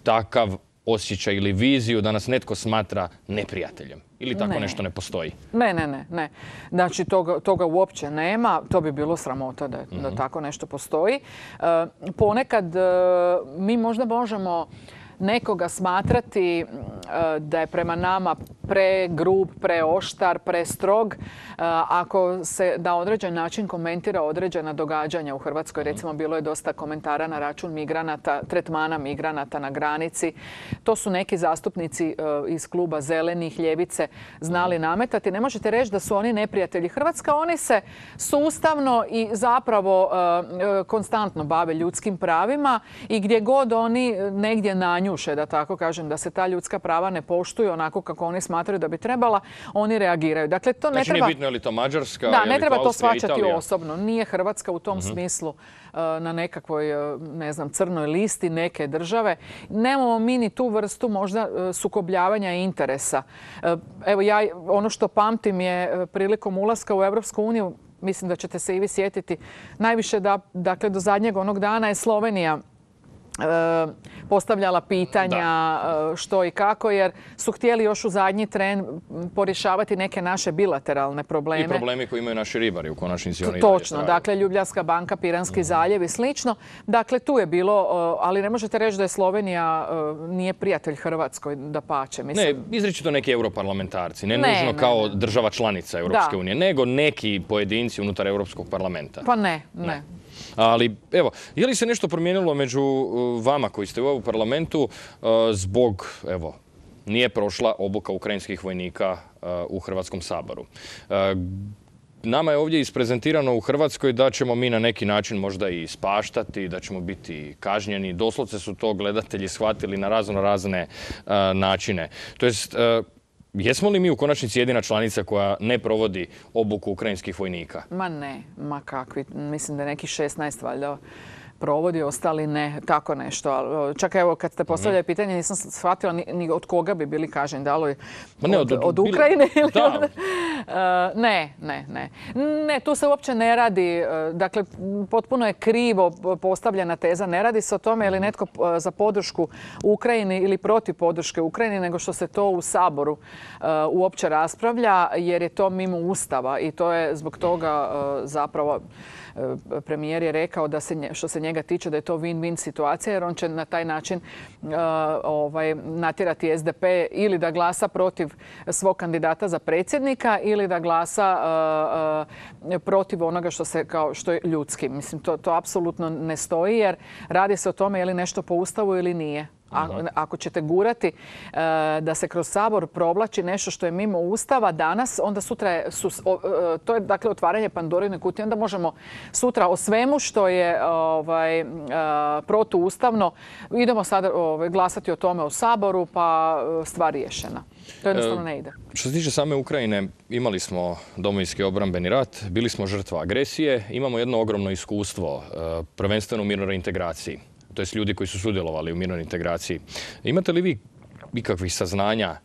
takav osjećaj ili viziju da nas netko smatra neprijateljem? Ili tako nešto ne postoji? Ne. Znači, toga uopće nema. To bi bilo sramota da tako nešto postoji. Ponekad mi možda možemo nekoga smatrati da je prema nama pregrub, preoštar, prestrog, ako se na određen način komentira određena događanja u Hrvatskoj. Recimo, bilo je dosta komentara na račun migranata, tretmana migranata na granici. To su neki zastupnici iz kluba Zelenih, Ljevice znali nametati. Ne možete reći da su oni neprijatelji Hrvatska. Oni se sustavno i zapravo konstantno bave ljudskim pravima i gdje god oni negdje nanjuše, da tako kažem, da se ta ljudska prava ne poštuju onako kako oni smatraju da bi trebala, oni reagiraju. Dakle, to ne treba... Nije bitno je li to Mađarska, da, ne treba to Austrija, shvaćati Italija. osobno. Nije Hrvatska u tom smislu na nekakvoj, ne znam, crnoj listi neke države. Nemamo mi ni tu vrstu možda sukobljavanja interesa. Evo, ono što pamtim je prilikom ulaska u Europsku uniju, mislim da ćete se i vi sjetiti, najviše dakle, do zadnjeg onog dana je Slovenija postavljala pitanja što i kako, jer su htjeli još u zadnji tren porješavati neke naše bilateralne probleme. I problemi koji imaju naši ribari u konačnici. Točno, dakle Ljubljanska banka, Piranski zaljev i slično. Dakle, tu je bilo, ali ne možete reći da je Slovenija nije prijatelj Hrvatskoj, dapače. Ne, izričito neki europarlamentarci, ne nužno kao država članica Europske unije, nego neki pojedinci unutar Europskog parlamenta. Pa ne. Ali, evo, je li se nešto promijenilo među vama koji ste u ovom parlamentu zbog, evo, nije prošla obuka ukrajinskih vojnika u Hrvatskom saboru? Nama je ovdje isprezentirano u Hrvatskoj da ćemo mi na neki način možda i spaštati, da ćemo biti kažnjeni. Doslovce su to gledatelji shvatili na razne načine. To jest, jesmo li mi u konačnici jedina članica koja ne provodi obuku ukrajinskih vojnika? Ma ne, ma kakvi. Mislim da je neki 16 valjda provodi, ostali ne, tako nešto. Čak evo, kad ste postavljali pitanje, nisam shvatila ni od koga bi bili kažnjeni. Da li od Ukrajine ili od... Ne. Ne, tu se uopće ne radi. Dakle, potpuno je krivo postavljena teza. Ne radi se o tome je li netko za podršku Ukrajini ili protiv podrške Ukrajini, nego što se to u Saboru uopće raspravlja, jer je to mimo Ustava i to je zbog toga zapravo premijer je rekao da što se njega tiče da je to win-win situacija, jer on će na taj način natjerati SDP ili da glasa protiv svog kandidata za predsjednika ili da glasa protiv onoga što je ljudski. Mislim, to apsolutno ne stoji, jer radi se o tome je li nešto po Ustavu ili nije. Ako ćete gurati da se kroz Sabor provlači nešto što je mimo Ustava danas, onda sutra to je dakle otvaranje Pandorine kutije. Onda možemo sutra o svemu što je protuustavno, idemo sada glasati o tome u Saboru, pa stvar riješena. To jednostavno ne ide. Što se tiče same Ukrajine, imali smo Domovinski obrambeni rat, bili smo žrtva agresije, imamo jedno ogromno iskustvo, prvenstveno u mirnoj integraciji. To jest ljudi koji su sudjelovali u mirnoj integraciji. Imate li vi ikakvih saznanja,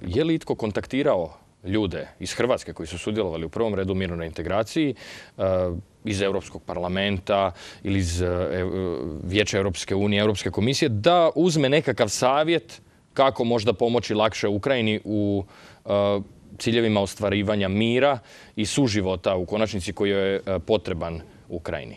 je li itko kontaktirao ljude iz Hrvatske koji su sudjelovali u prvom redu u mirnoj integraciji, iz Europskog parlamenta ili iz Vijeća Europske unije, Europske komisije, da uzme nekakav savjet kako možda pomoći lakše Ukrajini u ciljevima ostvarivanja mira i suživota u konačnici koji je potreban Ukrajini?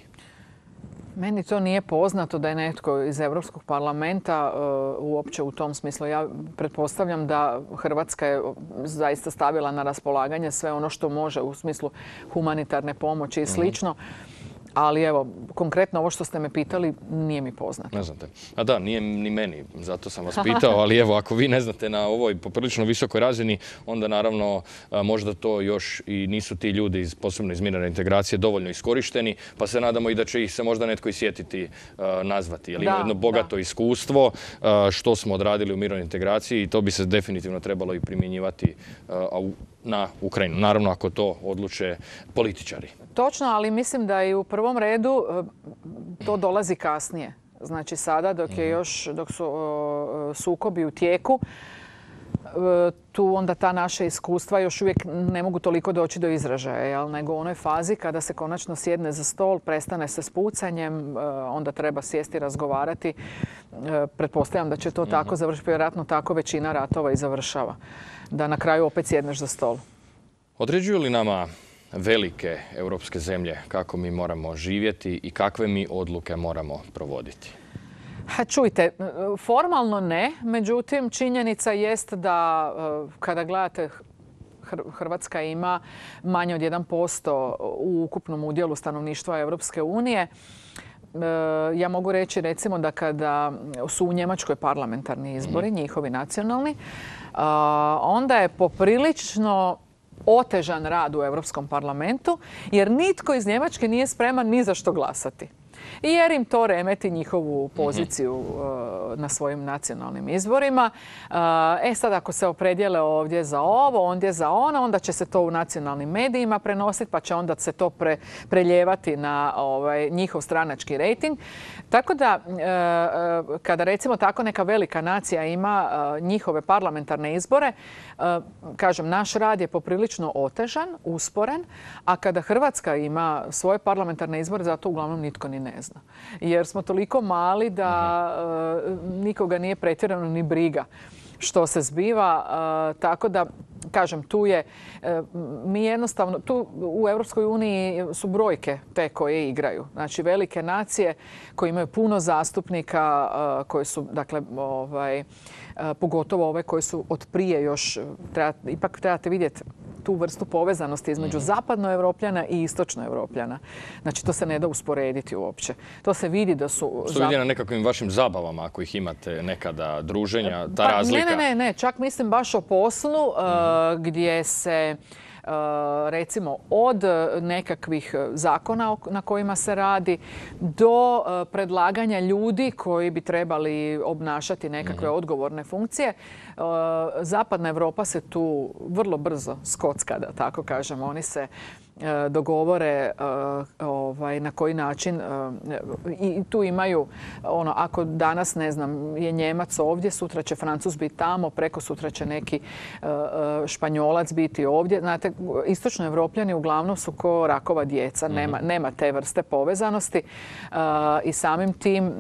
Meni to nije poznato da je netko iz Europskog parlamenta uopće u tom smislu. Ja pretpostavljam da Hrvatska je zaista stavila na raspolaganje sve ono što može u smislu humanitarne pomoći i slično. Ali evo, konkretno ovo što ste me pitali nije mi poznato. Ne znate. A da, nije ni meni, zato sam vas pitao, ali evo, ako vi ne znate na ovoj poprilično visokoj razini, onda naravno možda to još i nisu ti ljudi, posebno iz mirne integracije, dovoljno iskorišteni, pa se nadamo i da će ih se možda netko i sjetiti nazvati. Jer ima jedno bogato iskustvo što smo odradili u mirnoj integraciji i to bi se definitivno trebalo i primjenjivati na Ukrajinu. Naravno, ako to odluče političari. Točno, ali mislim da i u prvom redu to dolazi kasnije. Znači sada dok su sukobi u tijeku, tu onda ta naša iskustva još uvijek ne mogu toliko doći do izražaja, nego u onoj fazi kada se konačno sjedne za stol, prestane se s pucanjem, onda treba sjesti i razgovarati. Pretpostavljam da će to tako završiti, vjerojatno tako većina ratova i završava. Da na kraju opet sjedneš za stol. Određuju li nama velike europske zemlje kako mi moramo živjeti i kakve mi odluke moramo provoditi? Čujte, formalno ne, međutim činjenica jest da kada gledate Hrvatska ima manje od 1% u ukupnom udjelu stanovništva Europske unije. Ja mogu reći recimo da kada su u Njemačkoj parlamentarni izbori, njihovi nacionalni, onda je poprilično otežan rad u Europskom parlamentu jer nitko iz Njemačke nije spreman ni za što glasati. Jer im to remeti njihovu poziciju na svojim nacionalnim izborima. Sad ako se opredijele ovdje za ovo, ondje za ono, onda će se to u nacionalnim medijima prenositi, pa će onda se to preljevati na njihov stranački rejting. Tako da, kada recimo tako neka velika nacija ima njihove parlamentarne izbore, kažem, naš rad je poprilično otežan, usporen, a kada Hrvatska ima svoje parlamentarne izbore, zato uglavnom nitko ni ne zna. Jer smo toliko mali da nikoga nije pretjerano ni briga što se zbiva. Tako da, kažem, tu je, mi jednostavno, tu u Europskoj uniji su brojke te koje igraju. Znači, velike nacije koje imaju puno zastupnika, koji su, dakle, pogotovo ove koje su od prije još, ipak trebate vidjeti tu vrstu povezanosti između zapadnoevropljana i istočnoevropljana. Znači, to se ne da usporediti uopće. To se vidi da su... Što vidi na nekakvim vašim zabavama, ako ih imate nekada, druženja, ta razlika? Ne. Čak mislim baš o poslu gdje se recimo od nekakvih zakona na kojima se radi do predlaganja ljudi koji bi trebali obnašati nekakve odgovorne funkcije. Zapadna Europa se tu vrlo brzo skocka, da tako kažemo. Oni se dogovore na koji način i tu imaju ako danas, ne znam, je Njemac ovdje, sutra će Francuz biti tamo, preko sutra će neki Španjolac biti ovdje. Znate, istočno Evropljani uglavnom su ko rakova djeca, nema te vrste povezanosti i samim tim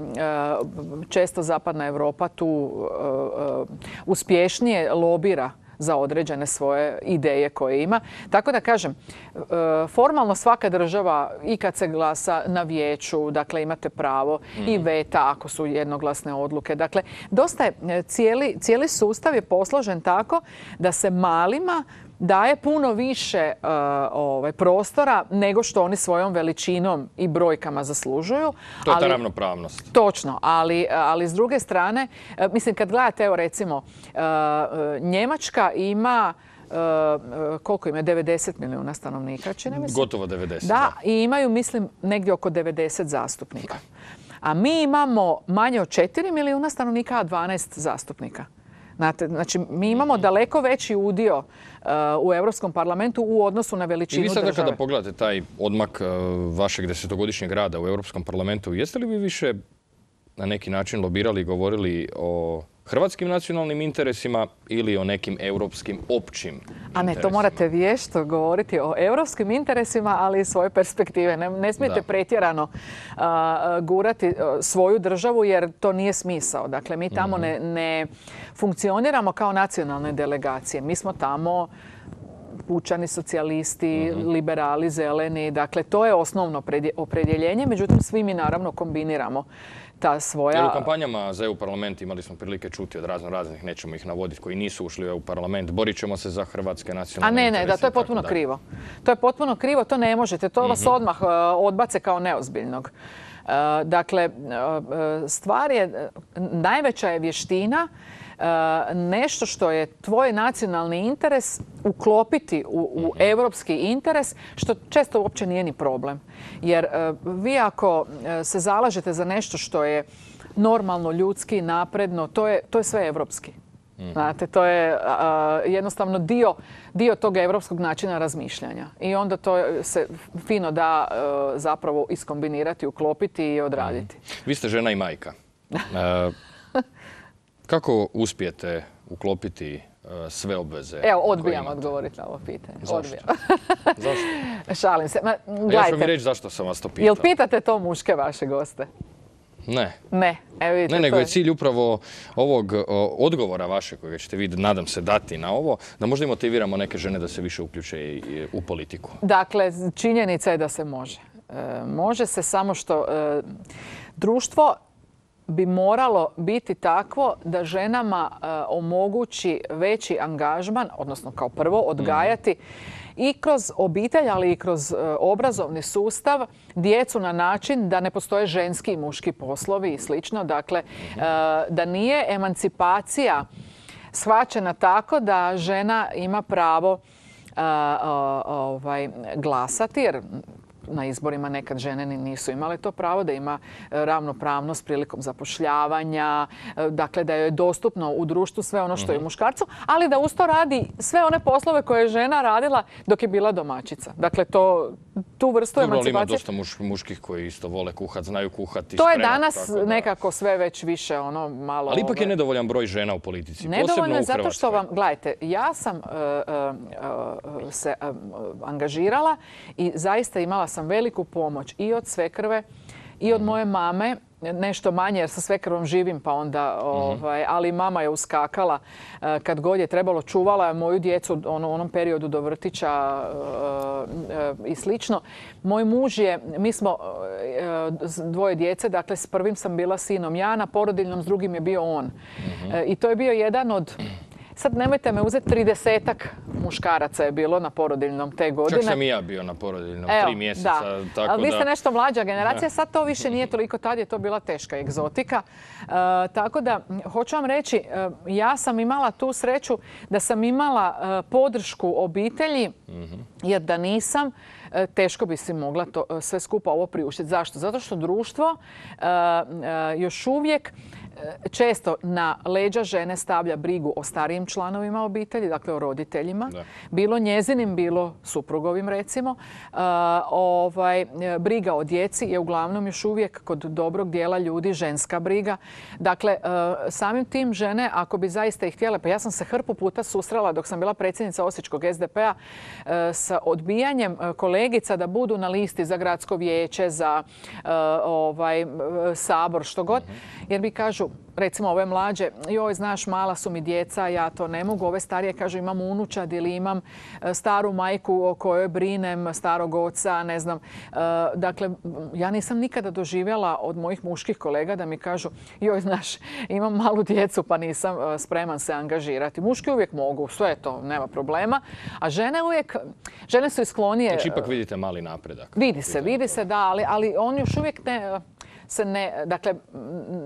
često Zapadna Europa tu uspješnije lobira za određene svoje ideje koje ima. Tako da kažem, formalno svaka država i kad se glasa na vijeću, dakle imate pravo i veta ako su jednoglasne odluke. Dakle, dosta je, cijeli sustav je posložen tako da se malima daje puno više prostora nego što oni svojom veličinom i brojkama zaslužuju. To je ta ravnopravnost. Točno, ali s druge strane, mislim, kad gledate, evo recimo, Njemačka ima koliko ima? 90 milijuna stanovnika, čini mi se. Gotovo 90. Da, i imaju, mislim, negdje oko 90 zastupnika. A mi imamo manje od 4 milijuna stanovnika, a 12 zastupnika. Znači, mi imamo daleko veći udio u Europskom parlamentu u odnosu na veličinu države. I vi sada kada pogledate taj odmak vašeg 10-godišnjeg rada u Europskom parlamentu, jeste li vi više na neki način lobirali i govorili o hrvatskim nacionalnim interesima ili o nekim europskim općim interesima? A ne, to morate vješto govoriti o europskim interesima, ali iz svoje perspektive. Ne smijete pretjerano gurati svoju državu jer to nije smisao. Dakle, mi tamo ne funkcioniramo kao nacionalne delegacije. Mi smo tamo pučani, socijalisti, liberali, zeleni. Dakle, to je osnovno opredjeljenje. Međutim, svi mi naravno kombiniramo ta svoja... U kampanjama za EU parlament imali smo prilike čuti od raznih, nećemo ih navoditi, koji nisu ušli u EU parlament. Borit ćemo se za hrvatske nacionalne interese. Da, to je potpuno krivo. To je potpuno krivo, to ne možete. To vas odmah odbace kao neozbiljnog. Dakle, stvar je, najveća je vještina nešto što je tvoj nacionalni interes uklopiti u europski interes, što često uopće nije ni problem. Jer vi ako se zalažete za nešto što je normalno, ljudski, napredno, to je sve europski. Znate, to je jednostavno dio tog europskog načina razmišljanja. I onda to se fino da zapravo iskombinirati, uklopiti i odraditi. Vi ste žena i majka. Kako uspijete uklopiti sve obveze? Evo, odbijam odgovoriti na ovo pitanje. Zašto? Zašto? Šalim se. Ja ću mi reći zašto sam vas to pitao. Jel pitate to muške vaše goste? Ne. Ne. Ne, nego je cilj upravo ovog odgovora vaše, kojeg ćete vi, nadam se, dati na ovo, da možda i motiviramo neke žene da se više uključe u politiku. Dakle, činjenica je da se može. Može se, samo što društvo bi moralo biti takvo da ženama omogući veći angažman, odnosno kao prvo odgajati i kroz obitelj, ali i kroz obrazovni sustav djecu na način da ne postoje ženski i muški poslovi i slično. Dakle, da nije emancipacija shvaćena tako da žena ima pravo glasati, jer na izborima nekad žene nisu imale to pravo, da ima ravnopravnost prilikom zapošljavanja, dakle da joj je dostupno u društvu sve ono što je muškarcu, ali da uz to radi sve one poslove koje je žena radila dok je bila domaćica. Dakle, tu vrstu emancipacije... Ima dosta muških koji isto vole kuhat, znaju kuhati. To je danas nekako sve već više malo... Ali ipak je nedovoljan broj žena u politici, nedovoljno je zato što vam, gledajte, ja sam se angažirala i zaista imala sam veliku pomoć i od svekrve i od moje mame, nešto manje jer sa svekrvom živim pa onda, ali mama je uskakala kad god je trebalo, čuvala je moju djecu u onom periodu do vrtića i slično. Moj muž je, mi smo dvoje djece, dakle s prvim sam bila sinom ja, na porodiljnom, s drugim je bio on. I to je bio jedan od... Sad nemojte me uzeti, 30-ak muškaraca je bilo na porodiljnom te godine. Čak sam i ja bio na porodiljnom, 3 mjeseca. Da. Ali vi ste nešto mlađa generacija, sad to više nije toliko, tad je to bila teška egzotika. Tako da, hoću vam reći, ja sam imala tu sreću da sam imala podršku obitelji, jer da nisam, teško bi si mogla to sve skupa ovo priuštiti. Zašto? Zato što društvo još uvijek često na leđa žene stavlja brigu o starijim članovima obitelji, dakle o roditeljima. Bilo njezinim, bilo suprugovim recimo. Briga o djeci je uglavnom još uvijek kod dobrog dijela ljudi ženska briga. Dakle, samim tim žene, ako bi zaista ih htjele, pa ja sam se hrpu puta susrela dok sam bila predsjednica Osječkog SDP-a sa odbijanjem kolegica da budu na listi za gradsko vijeće, za sabor, što god. Jer mi kažu, recimo ove mlađe, joj znaš mala su mi djeca, ja to ne mogu. Ove starije kažu imam unučad ili imam staru majku o kojoj brinem, starog oca, ne znam. Dakle, ja nisam nikada doživjela od mojih muških kolega da mi kažu joj znaš imam malu djecu pa nisam spreman se angažirati. Muški uvijek mogu, sve to, nema problema. A žene su sklonije... Znači ipak vidite mali napredak. Vidi se da, ali on još uvijek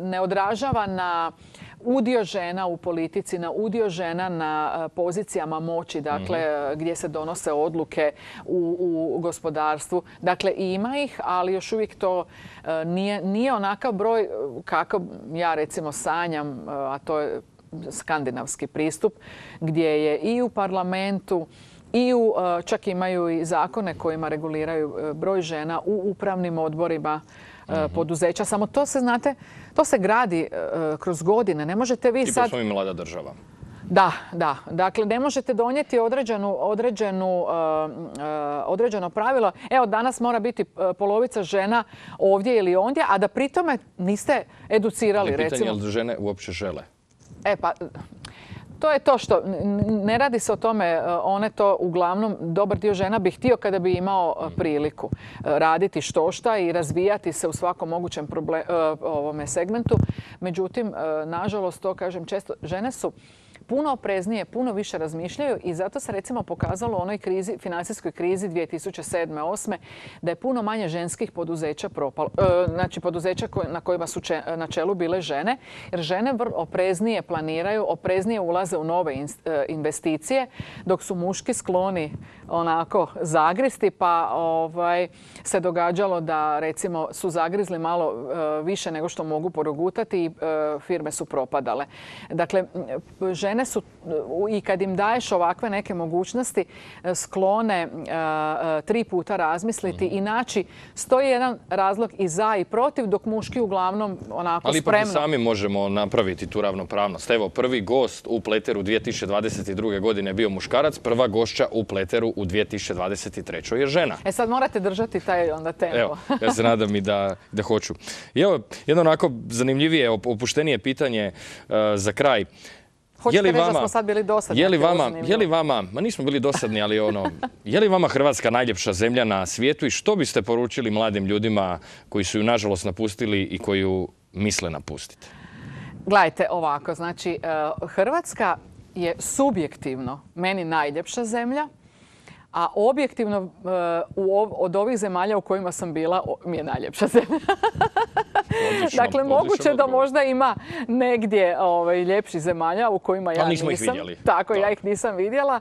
ne odražava na udio žena u politici, na udio žena na pozicijama moći, dakle gdje se donose odluke u gospodarstvu. Dakle, ima ih, ali još uvijek to nije onakav broj kako ja recimo sanjam, a to je skandinavski pristup, gdje je i u parlamentu i čak imaju i zakone kojima reguliraju broj žena u upravnim odborima poduzeća. Samo to se, znate, to se gradi kroz godine. Ne možete vi sad... Tipo smo i mlada država. Da. Dakle, ne možete donijeti određeno pravilo. Evo, danas mora biti polovica žena ovdje ili ondje, a da pri tome niste educirali, recimo. Pitanje je li žene uopće žele? To je to što ne radi se o tome, one to uglavnom, dobar dio žena bi htio kada bi imao priliku raditi štošta i razvijati se u svakom mogućem segmentu. Međutim, nažalost, to kažem često, žene su puno opreznije, puno više razmišljaju i zato se recimo pokazalo u onoj financijskoj krizi 2007-2008 da je puno manje ženskih poduzeća propalo. Znači poduzeća na kojima su na čelu bile žene, jer žene opreznije planiraju, opreznije ulaze u nove investicije, dok su muški skloni onako zagristi, pa se događalo da recimo su zagrizli malo više nego što mogu porogutati i firme su propadale. Dakle, žene su, i kad im daješ ovakve neke mogućnosti, sklone 3 puta razmisliti i naći 101 razlog i za i protiv, dok muški uglavnom onako spremno. Ali ipak sami možemo napraviti tu ravnopravnost. Evo, prvi gost u Pleteru 2022. godine je bio muškarac, prva gošća u Pleteru u 2023. je žena. Sad morate držati taj onda tempo. Evo, ja se nadam i da hoću. I evo, jedno onako zanimljivije, opuštenije pitanje za kraj. Hoćete reći da smo sad bili dosadni? Je li vama, ma nismo bili dosadni, ali je li vama Hrvatska najljepša zemlja na svijetu i što biste poručili mladim ljudima koji su ju nažalost napustili i koji ju misle napustiti? Gledajte ovako, znači Hrvatska je subjektivno meni najljepša zemlja, a objektivno od ovih zemalja u kojima sam bila mi je najljepša zemlja. Dakle, moguće da možda ima negdje ljepših zemalja u kojima ja nisam. Ali nismo ih vidjeli. Tako, ja ih nisam vidjela.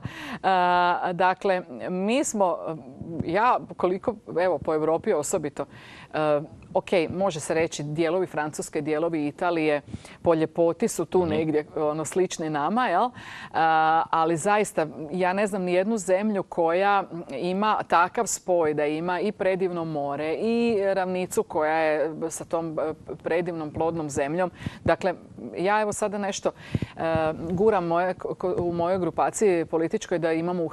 Dakle, mi smo, ja koliko, evo po Europi osobito, ok, može se reći dijelovi Francuske, dijelovi Italije po ljepoti su tu negdje slični nama, jel? Ali zaista ja ne znam ni jednu zemlju koja ima takav spoj da ima i predivno more i ravnicu koja je sa tom predivnom plodnom zemljom. Dakle, ja evo sada nešto guram u mojoj grupaciji političkoj da imamo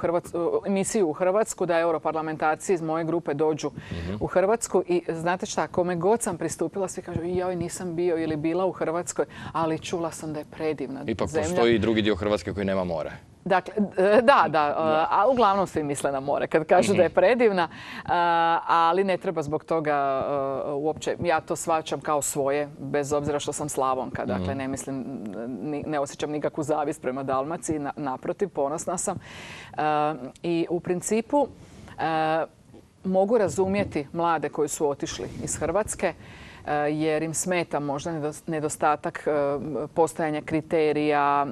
emisiju u Hrvatsku, da europarlamentarci iz moje grupe dođu u Hrvatsku i znate šta, kome god sam pristupila, svi kažu joj nisam bio ili bila u Hrvatskoj, ali čula sam da je predivna zemlja. Ipak postoji i drugi dio Hrvatske koji nema more. Dakle, da, a uglavnom svi misle na more kad kažu da je predivna, ali ne treba zbog toga uopće, ja to shvaćam kao svoje, bez obzira što sam Slavonka, dakle ne mislim, ne osjećam nikakvu zavist prema Dalmaciji, naprotiv, ponosna sam. I u principu mogu razumjeti mlade koji su otišli iz Hrvatske jer im smeta možda nedostatak postojanja kriterija,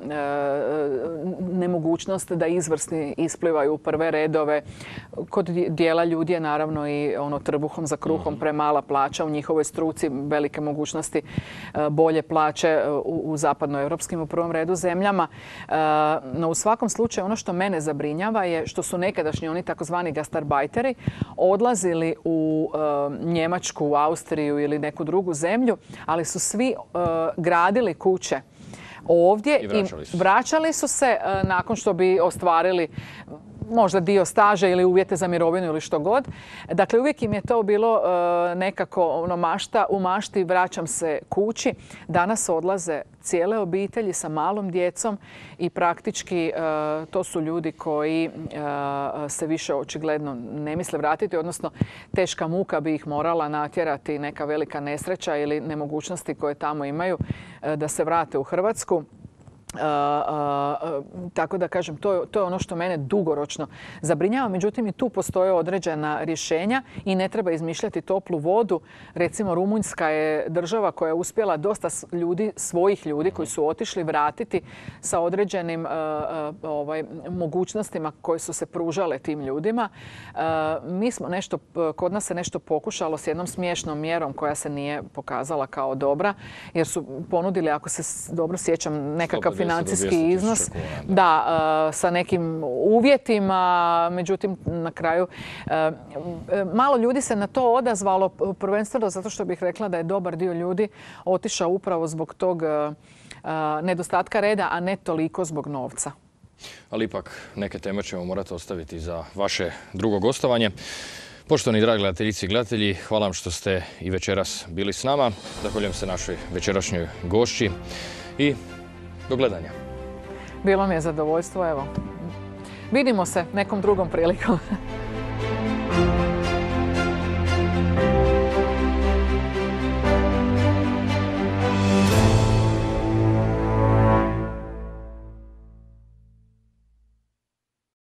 nemogućnost da izvrsni isplivaju u prve redove. Kod dijela ljudi je naravno i trbuhom za kruhom premala plaća u njihovoj struci, velike mogućnosti bolje plaće u zapadnoevropskim u prvom redu zemljama. No u svakom slučaju ono što mene zabrinjava je što su nekadašnji oni takozvani gastarbajteri odlazili u Njemačku, u Austriju ili neku drugu zemlju, ali su svi gradili kuće ovdje i vraćali su se nakon što bi ostvarili možda dio staža ili uvjete za mirovinu ili što god. Dakle, uvijek im je to bilo nekako mašta, u mašti vraćam se kući. Danas odlaze cijele obitelji sa malom djecom i praktički to su ljudi koji se više očigledno ne misle vratiti, odnosno teška muka bi ih morala natjerati, neka velika nesreća ili nemogućnosti koje tamo imaju da se vrate u Hrvatsku. Tako da kažem, to je ono što mene dugoročno zabrinjava. Međutim, i tu postoje određena rješenja i ne treba izmišljati toplu vodu. Recimo, Rumunjska je država koja je uspjela dosta svojih ljudi koji su otišli vratiti sa određenim mogućnostima koje su se pružale tim ljudima. Kod nas se nešto pokušalo s jednom smiješnom mjerom koja se nije pokazala kao dobra, jer su ponudili, ako se dobro sjećam, nekakav financijski iznos, sa nekim uvjetima, međutim na kraju malo ljudi se na to odazvalo, prvenstveno zato što bih rekla da je dobar dio ljudi otišao upravo zbog tog nedostatka reda, a ne toliko zbog novca. Ali ipak neke teme ćemo morati ostaviti za vaše drugo gostovanje. Poštovani dragi gledateljice i gledatelji, hvala vam što ste i večeras bili s nama. Zahvaljujem se našoj večerašnjoj gošći i do gledanja. Bilo mi je zadovoljstvo, evo. Vidimo se nekom drugom prilikom.